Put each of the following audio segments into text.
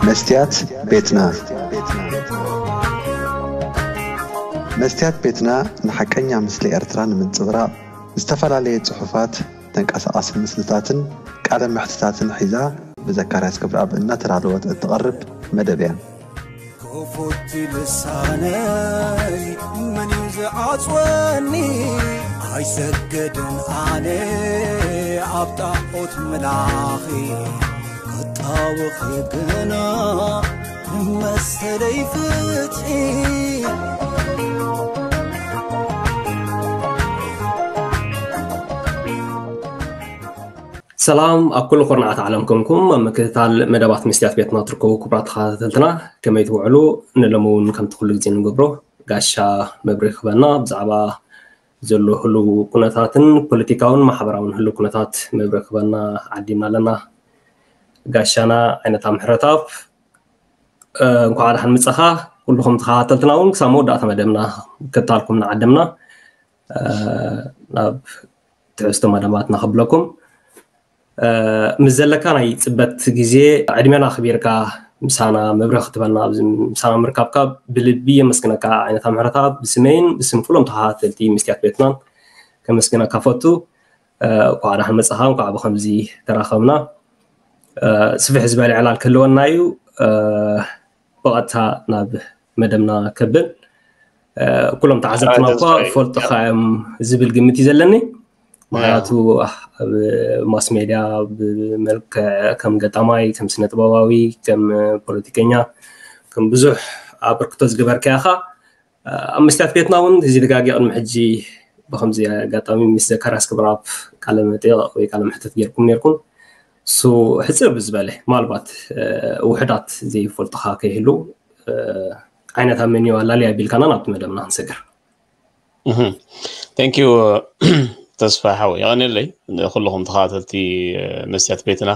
መስትያት ቤትና። መስትያት ቤትና ንሓቀኛ ምስሊ ኤርትራ ንምንጽብራቕ ዝተፈላለየ ጽሑፋት፣ ተንቀሳቓሲ ምስልታትን ቃለ መሕትታትን ሒዛ ብዘካርያስ ገብረኣብ እናተዳለወት እትቐርብ መደብ እያ። ክፉት ልሳነይ መን እዩ ዝዓጽወኒ? ኣይሰግድን ኣነ ኣብ ጣዖት ምላኺ፣ ክጣወኺ ግና መሰለይ ፍትሒ። ሰላም ኣብ ኩሉ ኩርናዓት ዓለም ኮንኩም ኣብ ምክትታል መደባት መስትያት ቤትና ትርከቡ ክቡራት ተኸታተልትና፣ ከመይ ትውዕሉ? ንሎሚ እውን ከምቲ ኩሉ ግዜ ንገብሮ ጋሻ መብርሂ ክህበና፣ ብዛዕባ ዘሎ ህሉው ኩነታትን ፖለቲካውን ማሕበራውን ህሉው ኩነታት መብርሂ ክህበና ዓዲምና ኣለና። ጋሻና ዓይነታ ምሕረትኣብ፣ እ፣ እንኳዕ ደሓን መጻኻ። ኩልኹም ተኸታተልትና እውን ክሳብ መወዳእታ መደብና ክታልኩም ንዓደምና፣ እ፣ ናብ ትሕዝቶ መደባትና ክብለኩም። እ፣ ምስ ዘለካ ናይ ጽበት ግዜ ዕድሜና ኣኽቢርካ ምሳና መብርሂ ክትበና ኣብዚ ምሳና ምርካብካ ብልቢ የመስግነካ። ዓይነታ ምሕረትኣብ ብስመይን ብስም ኩሎም ተኸታተልቲ መስትያት ቤትናን ከመስግነካ ፈቱ። እ፣ እንኳዕ ደሓን መጻኻ፣ እንኳዕ ብኸምዚ ተራኸብና። እ፣ ስፍሕ ዝበለ ዕላል ክህልወና እዩ። እ፣ ብቐጥታ ናብ መደብና ከብል፣ እ፣ ኩሎም ተዓዘብትና እኳ ተስፋ እዩ። ፈልጡኻ እዮም ዝብል ግምት እዩ ዘለኒ። ምኽንያቱ ኣብ ማስ ሜድያ ብመልክዕ ከም ገጣማይ፣ ከም ስነ ጥበባዊ፣ ከም ፖለቲከኛ፣ ከም ብዙሕ ኣበርክቶ ዝገበርካ ኢኻ። ኣብ መስትያት ቤትና እውን እዚ ደጋጊ ቅድሚ ሕጂ ብኸምዚ ኣጋጣሚ ምስ ዘካርያስ ክብረኣብ ቃለ መጠይቕ ወይ ቃለ መሕተት ጌርኩም ኔርኩም። እሱ ሕጽር ብዝበለ፣ ምናልባት፣ እ፣ ውሑዳት ዘይፈልጡኻ ከይህሉ፣ እ፣ ዓይነታ መን እዩ ኣላልያ ኣቢልካና ናብቲ መደብና ክንሰግር። እህ፣ thank you፣ ተስፋ ሓወይ። የቐንየለይ ንኹልኹም ተኸታተልቲ፣ እ፣ መስትያት ቤትና፣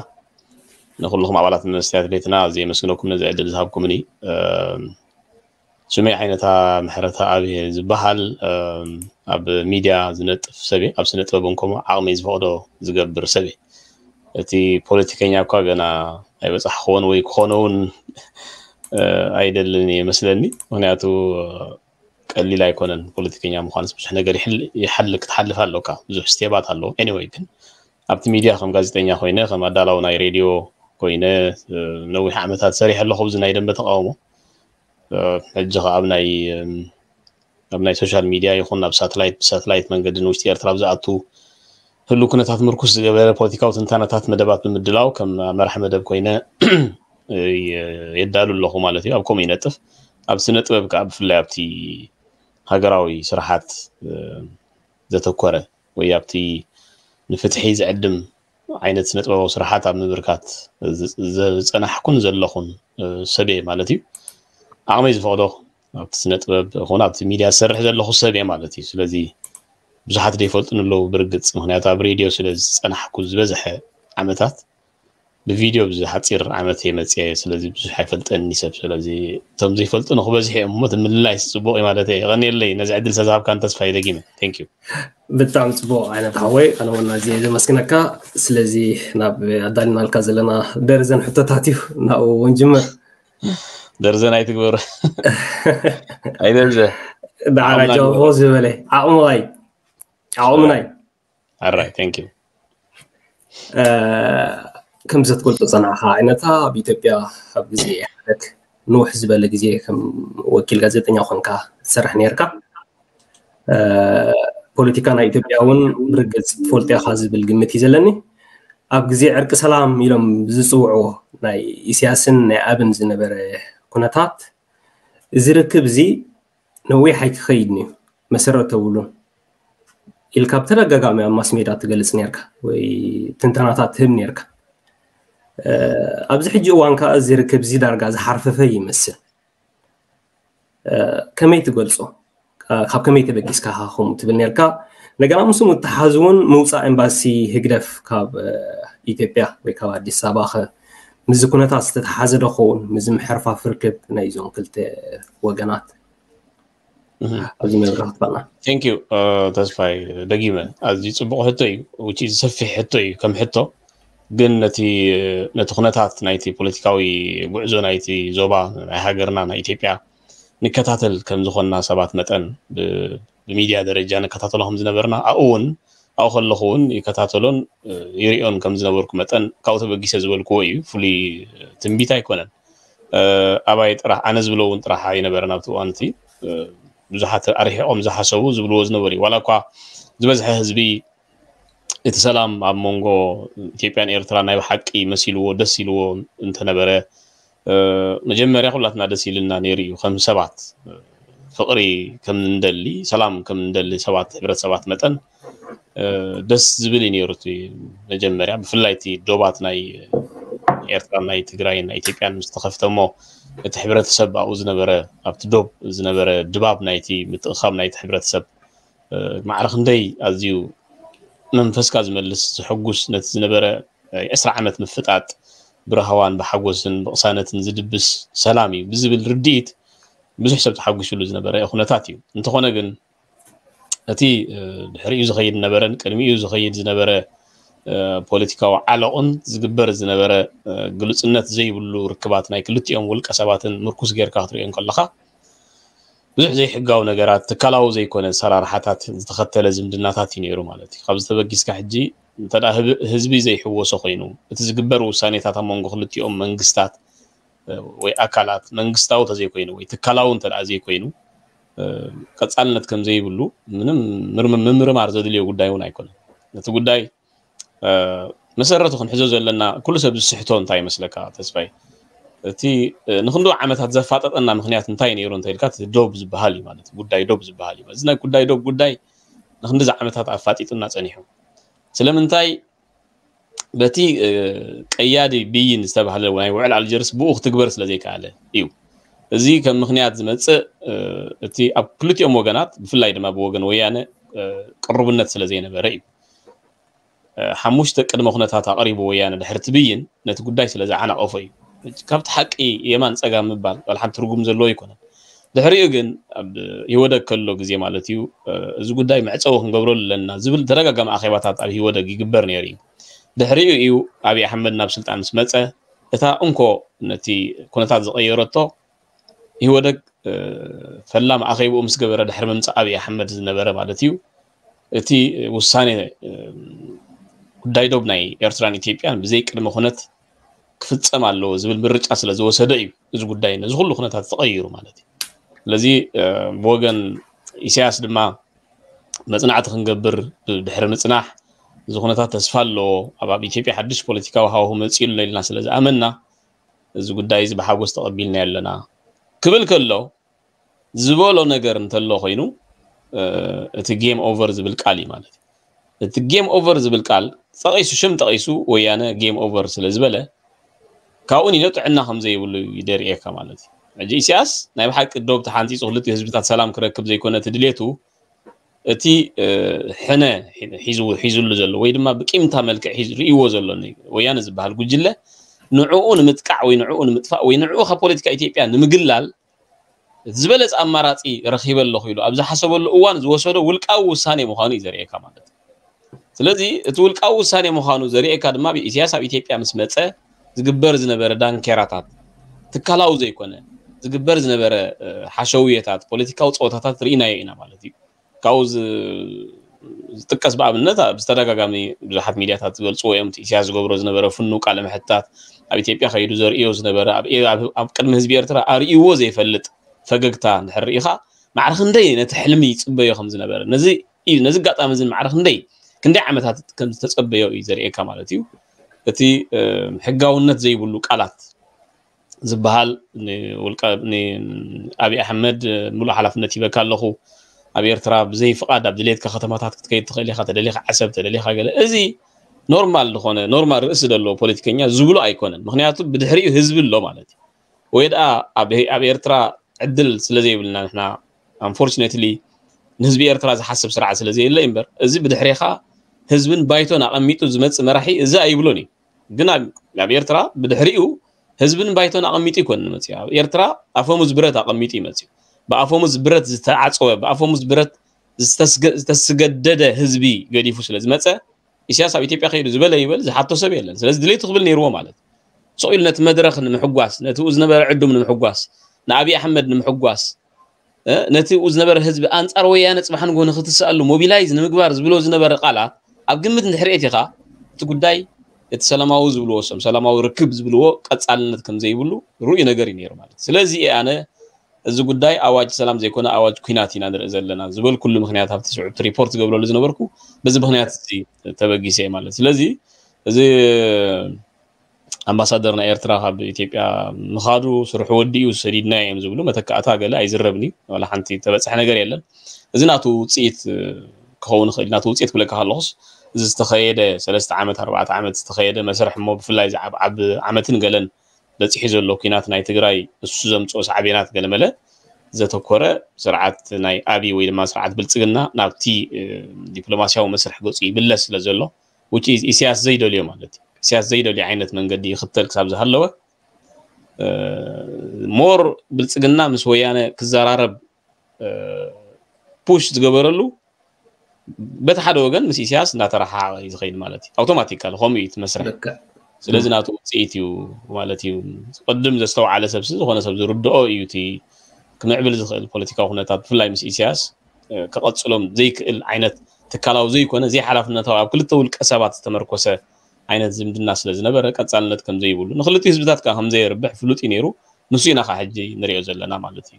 ንኹልኹም ኣባላት መስትያት ቤትና ኣዝየ የመስግነኩም ነዚ ዕድል ዝሃብኩምኒ። እ፣ ስመይ ዓይነታ ምሕረተኣብ እየ ዝበሃል። እም፣ ኣብ ሚድያ ዝነጥፍ ሰብ እየ። ኣብ ስነ ጥበብ እውን ከምኡ ዓቕመይ ዝፈቕዶ ዝገብር ሰብ እየ። እቲ ፖለቲከኛ እኳ ገና ኣይበጻሕክዎን ወይ ክኾኖ እውን፣ እ፣ ኣይደልን እየ መስለኒ። ምኽንያቱ፣ እ፣ ቀሊል ኣይኮነን ፖለቲከኛ ምዃንስ። ብዙሕ ነገር ይሕል-፣ ይሓል-፣ ክትሓልፍ ኣለካ። ብዙሕ ስቴባት ኣለዎ። ኤኒወይ ግን ኣብቲ ሚድያ ከም ጋዜጠኛ ኮይነ፣ ከም ኣዳላዊ ናይ ሬድዮ ኮይነ፣ እ፣ ነዊሕ ዓመታት ሰሪሐ ኣለኹ ኣብዚ ናይ ደንበ ተቃውሞ። እ፣ ሕጂ ኸዓ ኣብ ናይ፣ እም፣ ኣብ ናይ ሶሻል ሚድያ ይኹን ኣብ ሳተላይት፣ ብሳተላይት መንገዲ ንውሽጢ ኤርትራ ኣብ ዝኣቱ ህሉው ኩነታት ምርኩስ ዝገበረ ፖለቲካዊ ትንታነታት መደባት ብምድላው ከም መራሕ መደብ ኮይነ፣ እ፣ የ-፣ የዳሉ ኣለኹ ማለት እዩ። ኣብ ከምኡ ይነጥፍ። ኣብ ስነ ጥበብ ከኣ ብፍላይ ኣብቲ ሃገራዊ ስራሓት፣ እ፣ ዘተኮረ ወይ ኣብቲ ንፍትሒ ዝዕድም ዓይነት ስነ ጥበባዊ ስራሓት ኣብ ምብርካት ዝ-፣ ዝጸናሕኩን ዘለኹን፣ እ፣ ሰብ እየ ማለት እዩ። ዓቕመይ ዝፈቕዶ ኣብቲ ስነ ጥበብ ይኹን ኣብቲ ሚድያ ዝሰርሕ ዘለኹ ሰብ እየ ማለት እዩ። ስለዚ ብዙሓት ዘይፈልጡኒ ኣለዉ ብርግጽ፣ ምኽንያቱ ኣብ ሬድዮ ስለ ዝጸናሕኩ ዝበዝሐ ዓመታት ብቪድዮ ኣብዚ ሓጺር ዓመት እየ መጽየ፣ ስለዚ ብዙሕ ኣይፈልጠኒ ሰብ። ስለዚ እቶም ዘይፈልጡ ንኽበዝሑ እዮም እሞ፣ እቲ ምልላይስ ጽቡቕ እዩ ማለት እየ። የቐንየለይ ነዚ ዕድል ስለዝሃብካን ተስፋይ ደጊመ። Thank you። ብጣዕሚ ጽቡቕ ዓይነት ሓወይ፣ ኣነ እውን ኣዝየ ዘመስግነካ። ስለዚ ናብ ኣዳሊናልካ ዘለና ደርዘን ሕቶታት እዩ፣ ናብኡ እውን ጅምር። ደርዘን ኣይትግበር። ኣይደርዘ። ደሓር ዓቕምና ጃውቦ ግበር። ዝበለ ዓቕምዋይ፣ ዓቕምናይ። ኣራይ፣ thank you። እ፣ ከም ዘትገልጾ ጸናሕካ ዓይነታ ኣብ ኢትዮጵያ ኣብ ግዜ ኢህኣደግ ንውሕ ዝበለ ግዜ ከም ወኪል ጋዜጠኛ ኮንካ ትሰርሕ ነርካ። እ፣ ፖለቲካ ናይ ኢትዮጵያ እውን ብርግጽ ትፈልጦ ኢኻ ዝብል ግምት እዩ ዘለኒ። ኣብ ግዜ ዕርቂ ሰላም ኢሎም ዝጽውዕዎ ናይ ኢሳያስን ናይ ኣብን ዝነበረ ኩነታት፣ እዚ ርክብ እዚ ነዊሕ ኣይክኸይድን እዩ፣ መሰረት ተብሉን ኢልካ ብተደጋጋሚ ኣብ ማስ ሜድያ ትገልጽ ነርካ ወይ ትንተናታት ትህብ ነርካ። እ፣ ኣብዚ ሕጂ እዋን ከኣ እዚ ርክብ እዚ ዳርጋ ዝሓርፈፈ ይመስል። እ፣ ከመይ ትገልጾ? እ፣ ካብ ከመይ ተበጊስካ ኢኻ ከምኡ ትብል ነርካ? እንደገና ምስኡ ምትሓዝ እውን ምውጻእ ኤምባሲ ህግደፍ ካብ፣ እ፣ ኢትዮጵያ ወይ ካብ ኣዲስ ኣበባ ኸ ምስዚ ኩነታት ዝተተሓዘ ዶ ክኸውን? ምስዚ ምሕርፋፍ ርክብ ናይዞም ክልተ ወገናት እህ። ኣብዚ መብርሂ ክትበልና። Thank you፣ እ፣ ተስፋይ፣ ደጊመ ኣዝዩ ጽቡቕ ሕቶ እዩ። ውጪ ሰፊሕ ሕቶ እዩ ከም ሕቶ። ግን ነቲ ነቲ ኩነታት ናይቲ ፖለቲካዊ ጉዕዞ ናይቲ ዞባ ናይ ሃገርና ናይ ኢትዮጵያ ንከታተል ከም ዝኾንና ሰባት መጠን፣ ብ- ብሚድያ ደረጃ ንከታተሎ ከም ዝነበርና፣ ኣብኡ እውን ኣብኡ ከለኹ እውን ይከታተሎን ይሪኦን ከም ዝነበርኩ መጠን፣ ካብኡ ተበጊሰ ዝበልክዎ እዩ። ፍሉይ ትንቢት ኣይኮነን። ኣባይ ጥራሕ፣ ኣነ ዝብሎ እውን ጥራሕ ኣይነበረን ኣብቲ እዋን እቲ። ብዙሓት ኣርሒቖም ዝሓሰቡ ዝብልዎ ዝነበሩ እዩ። ዋላ እኳ ዝበዝሐ ህዝቢ እቲ ሰላም ኣብ መንጎ ኢትዮጵያን ኤርትራ ናይ ብሓቂ መሲልዎ፣ ደስ ኢልዎ እንተነበረ፣ መጀመርያ ኩላትና ደስ ኢልና ነይሩ እዩ። ከም ሰባት ፍቕሪ ከም እንደሊ፣ ሰላም ከም እንደሊ ሰባት፣ ሕብረተሰባት መጠን ደስ ዝብል እዩ ነይሩ እቲ መጀመርያ። ብፍላይ እቲ ዶባት ናይ ኤርትራ፣ ናይ ትግራይ፣ ናይ ኢትዮጵያን ምስ ተኸፍተ እሞ፣ እቲ ሕብረተሰብ ኣብኡ ዝነበረ፣ ኣብቲ ዶብ ዝነበረ ድባብ ናይቲ ምትእኻብ ናይቲ ሕብረተሰብ ማዕረ ክንደይ ኣዝዩ መንፈስካ ዝመልስ፣ ዝሕጉስ፣ ነቲ ዝነበረ ዕስራ ዓመት ምፍጣጥ ብራህዋን ብሓጎስን ብቕሳነትን ዝድብስ ሰላም እዩ ብዝብል ርድኢት ብዙሕ ሰብ ተሓጒሱሉ ዝነበረ ኩነታት እዩ። እንተኾነ ግን እቲ ድሕሪኡ ዝኸይድ ነበረን ቅድሚኡ ዝኸይድ ዝነበረ ፖለቲካዊ ዓለቕን ዝግበር ዝነበረ ግሉጽነት ዘይብሉ ርክባት ናይ ክልቲኦም ውልቀ ሰባትን ምርኩስ ጌርካ ክትሪኦ እንከለኻ፣ ብዙሕ ዘይሕጋዊ ነገራት፣ ትካላዊ ዘይኮነ ኣሰራርሓታት ዝተኸተለ ዝምድናታት እዩ ነይሩ ማለት እዩ። ካብዚ ተበጊስካ ሕጂ እንተ ደኣ ህብ- ህዝቢ ዘይሕወሶ ኮይኑ፣ እቲ ዝግበር ውሳኔታት ኣብ መንጎ ክልቲኦም መንግስታት ወይ ኣካላት መንግስታዊ ተዘይኮይኑ ወይ ትካላዊ እንተ ደኣ ዘይኮይኑ ቀጻልነት ከም ዘይብሉ ምንም ምርም- ምምርማር ዘድልዮ ጉዳይ እውን ኣይኮነን። ነቲ ጉዳይ መሰረቱ ክንሕዞ ዘለና ኩሉ ሰብ ዝስሕቶ እንታይ ይመስለካ ተስፋይ? እቲ ንክንዱ ዓመታት ዘፋጠጠና ምክንያት እንታይ ነይሩ እንተ ኢልካ፣ እቲ ዶብ ዝበሃል እዩ ማለት እዩ። ጉዳይ ዶብ ዝበሃል እዩ። እዚ ናይ ጉዳይ ዶብ ጉዳይ ንክንድዚ ዓመታት ኣፋጢጡና ጸኒሑ። ስለምንታይ? በቲ ቀያዲ ብይን ዝተባህለ ናይ ውዕል ኣልጀርስ ብኡ ክትግበር ስለ ዘይከኣለ እዩ። እዚ ከም ምክንያት ዝመጽእ እቲ ኣብ ክልቲኦም ወገናት፣ ብፍላይ ድማ ብወገን ወያነ ቅርቡነት ስለ ዘይነበረ እዩ። ሓሙሽተ ቅድመ ኩነታት ኣቕሪቡ ወያነ ድሕሪ እቲ ብይን ነቲ ጉዳይ ስለ ዝዓናቐፎ እዩ። ካብቲ ሓቂ የማን ጸጋም ምባል ዋላ ሓንቲ ትርጉም ዘለዎ ኣይኮነን። ድሕሪኡ ግን ኣብ ኢህወደግ ከሎ ግዜ ማለት እዩ፣ እዚ ጉዳይ መዕጸዊ ክንገብረሉ ኣለና ዝብል ተደጋጋሚ ኣኼባታት ኣብ ኢህወደግ ይግበር ነይሩ እዩ። ድሕሪኡ እዩ ኣብይ ኣሕመድ ናብ ስልጣን ምስ መጸ እታ እንኮ ነቲ ኩነታት ዝቐየረቶ ኢህወደግ ፈላም ኣኼብኡ ምስ ገበረ ድሕሪ ምምጻእ ኣብይ ኣሕመድ ዝነበረ ማለት እዩ፣ እቲ ውሳኔ ጉዳይ ዶብ ናይ ኤርትራን ኢትዮጵያን ብዘይ ቅድመ ኩነት ክፍጸም ኣለዎ ዝብል ምርጫ ስለ ዝወሰደ እዩ እዚ ጉዳይ ነዚ ኩሉ ኩነታት ተቐይሩ ማለት እዩ። ስለዚ ብወገን ኢሳያስ ድማ መጽናዕቲ ክንገብር ድሕሪ ምጽናሕ፣ እዚ ኩነታት ተስፋ ኣለዎ፣ ኣብ ኣብ ኢትዮጵያ ሓድሽ ፖለቲካዊ ሃዋሁ መጺኡ ኣሎ ኢልና ስለ ዝኣመንና፣ እዚ ጉዳይ እዚ ብሓጎስ ተቐቢልናዮ ኣለና ክብል ከሎ፣ ዝበሎ ነገር እንተሎ ኮይኑ፣ እቲ ጌም ኦቨር ዝብል ቃል እዩ ማለት እዩ። እቲ ጌም ኦቨር ዝብል ቃል ጠቒሱ፣ ሽም ጠቒሱ ወያነ ጌም ኦቨር ስለ ዝበለ፣ ካብኡ ንዮ ጥዕና ከም ዘይብሉ እዩ ደርእየካ ማለት እዩ። ሕጂ ኢሳያስ ናይ ብሓቂ ዶብ ተሓንጺጹ ክልቲኡ ህዝብታት ሰላም ክረክብ ዘይኮነ እቲ ድሌቱ፣ እቲ ሕነ ሒዙ ሒዙሉ ዘሎ ወይ ድማ ብቂምታ መልክዕ ሒዙ ርእይዎ ዘሎ ወያነ ዝበሃል ጉጅለ ንዕኡ ንምጥቃዕ ወይ ንዕኡ ንምጥፋእ ወይ ንዕኡ ካብ ፖለቲካ ኢትዮጵያ ንምግላል ዝበለጸ ኣማራጺ ረኺበ ኣለኹ ኢሉ ኣብ ዝሓሰበሉ እዋን ዝወሰዶ ውልቃዊ ውሳኔ ምዃኑ እዩ ዘርእየካ ማለት እዩ። ስለዚ እቲ ውልቃዊ ውሳኔ ምዃኑ ዘርእየካ ድማ ብኢሳያስ ኣብ ኢትዮጵያ ምስ መጸ ዝግበር ዝነበረ ዳንኬራታት፣ ትካላዊ ዘይኮነ ዝግበር ዝነበረ ሓሸውየታት፣ ፖለቲካዊ ጸወታታት ርኢናዮ ኢና ማለት እዩ። ካብኡ ዝጥቀስ ብኣብነት ኣብ ዝተደጋጋሚ ብዙሓት ሚድያታት ዝገልፅዎ እዮም። ኢሳያስ ዝገብሮ ዝነበረ ፍኑ ቃለ መሕትታት፣ ኣብ ኢትዮጵያ ከይዱ ዘርእዮ ዝነበረ ኣብ ቅድሚ ህዝቢ ኤርትራ ኣርእይዎ ዘይፈልጥ ፈገግታ እንድሕር ርኢኻ፣ ማዕረ ክንደይ ነቲ ሕልሚ ይፅበዮ ከም ዝነበረ፣ ነዚ ኣጋጣሚ እዚ ማዕረ ክንደይ ክንደይ ዓመታት ከም ዝተፀበዮ እዩ ዘርእየካ ማለት እዩ። እቲ ሕጋውነት ዘይብሉ ቃላት ዝበሃል ንውልቀ ንኣብይ ኣሕመድ ሙሉእ ሓላፍነት ሂበካ ኣለኹ። ኣብ ኤርትራ ብዘይ ፍቓድ ኣብ ድሌትካ ከተማታት ክትከይድ ትኽእል ኢኻ፣ ተደሊኻ ዓሰብ፣ ተደሊኻ ገለ። እዚ ኖርማል ዝኾነ፣ ኖርማል ርእሲ ዘለዎ ፖለቲከኛ ዝብሎ ኣይኮነን። ምኽንያቱ ብድሕሪኡ ህዝቢ ኣሎ ማለት እዩ። ወይ ደኣ ኣብ ኣብ ኤርትራ ዕድል ስለ ዘይብልና ንሕና፣ ኣንፎርቹኔትሊ፣ ንህዝቢ ኤርትራ ዝሓስብ ስርዓት ስለ ዘየለ እምበር፣ እዚ ብድሕሬኻ ህዝብን ባይቶን ኣቐሚጡ ዝመጽእ መራሒ እዚ ኣይብሎን እዩ። ግን ኣብ ኤርትራ ብድሕሪኡ ህዝብን ባይቶን ኣቐሚጡ ይኮን መፅዩ። ኣብ ኤርትራ ኣፈሙዝ ብረት ኣቐሚጡ ይመፅዩ። ብኣፈሙዝ ብረት ዝተዓፀወ፣ ብኣፈሙዝ ብረት ዝተስገደደ ህዝቢ ገዲፉ ስለ ዝመፀ፣ ኢሳያስ ኣብ ኢትዮጵያ ከይዱ ዝበለ ይበል ዝሓቶ ሰብ የለን። ስለዚ ድሌቱ ክብል ነይርዎ ማለት እዩ። ስቕ ኢሉ ነቲ መድረኽ ንምሕጓስ፣ ነቲ ኡ ዝነበረ ዕዱም ንምሕጓስ፣ ንኣብይ ኣሕመድ ንምሕጓስ፣ እ፣ ነቲ ኡ ዝነበረ ህዝቢ ኣንጻር ወያነ ጽባሕ ንግሆ ንክትስኣሉ ሞቢላይዝ ንምግባር ዝብሎ ዝነበረ ቃላት ኣብ ግምት እንድሕር ኣእቲኻ፣ እቲ ጉዳይ እቲ ሰላማዊ ዝብልዎ፣ ሰም ሰላማዊ ርክብ ዝብልዎ ቀጻልነት ከም ዘይብሉ ርኡይ ነገር እዩ ነይሩ ማለት እዩ። ስለዚ እየ ኣነ እዚ ጉዳይ ኣዋጅ ሰላም ዘይኮነ ኣዋጅ ኲናት ኢና ንርኢ ዘለና ዝበልኩሉ ምኽንያት ኣብቲ ስዑብቲ ሪፖርት ዝገብረሉ ዝነበርኩ በዚ ምኽንያት እዚ ተበጊሰ እየ ማለት እዩ። ስለዚ እዚ ኣምባሳደር ናይ ኤርትራ ካብ ኢትዮጵያ ምኻዱ ስርሑ ወዲኡ ሰዲድናዮ እዮም ዝብሉ መተካእታ ገለ ኣይዝረብን እዩ። ዋላ ሓንቲ ተበጽሐ ነገር የለን። እዚ ናቱ ውጽኢት ክኸውን ይኽእል። ናቱ ውጽኢት ክብለካ ከለኹስ እዚ ዝተኸየደ ሰለስተ ዓመት ኣርባዕተ ዓመት ዝተኸየደ መስርሕ እሞ ብፍላይ እዚ ኣብ ዓብ ዓመትን ገለን በጺሑ ዘሎ ኲናት ናይ ትግራይ እሱ ዘምጽኦ ሳዕቤናት ገለመለ ዘተኮረ ስርዓት ናይ ኣብይ ወይ ድማ ስርዓት ብልጽግና ናብቲ እ፣ ዲፕሎማስያዊ መስርሕ ገጹ ይምለስ ስለ ዘሎ which is ኢሳያስ ዘይደልዮ ማለት እዩ። ኢሳያስ ዘይደልዮ ዓይነት መንገዲ ይኽተል ክሳብ ዝሃለወ እ፣ ሞር ብልጽግና ምስ ወያነ ክዘራረብ እ፣ ፑሽ ዝገበረሉ በቲ ሓደ ወገን ምስ ኢሳያስ እንዳተረሓሓቐ እዩ ዝኸይድ ማለት እዩ። ኣውቶማቲካሊ ከምኡ እዩ እቲ መስርሕ። ልክዕ ስለዚ ናቱ ውፅኢት እዩ ማለት እዩ። ቅድም ዘስተውዓለ ሰብሲ ዝኾነ ሰብ ዝርድኦ እዩ እቲ ክምዕብል ዝኽእል ፖለቲካዊ ኩነታት ብፍላይ ምስ ኢሳያስ እ፣ ክቐፅሎም ዘይክእል ዓይነት ትካላዊ ዘይኮነ ዘይሓላፍነታዊ ኣብ ክልተ ውልቀ ሰባት ዝተመርኮሰ ዓይነት ዝምድና ስለ ዝነበረ ቀፃልነት ከም ዘይብሉ ንክልቲኡ ህዝብታት ከዓ ከም ዘየርብሕ ፍሉጥ እዩ ነይሩ። ንሱ ኢና ከዓ ሕጂ ንሪኦ ዘለና ማለት እዩ።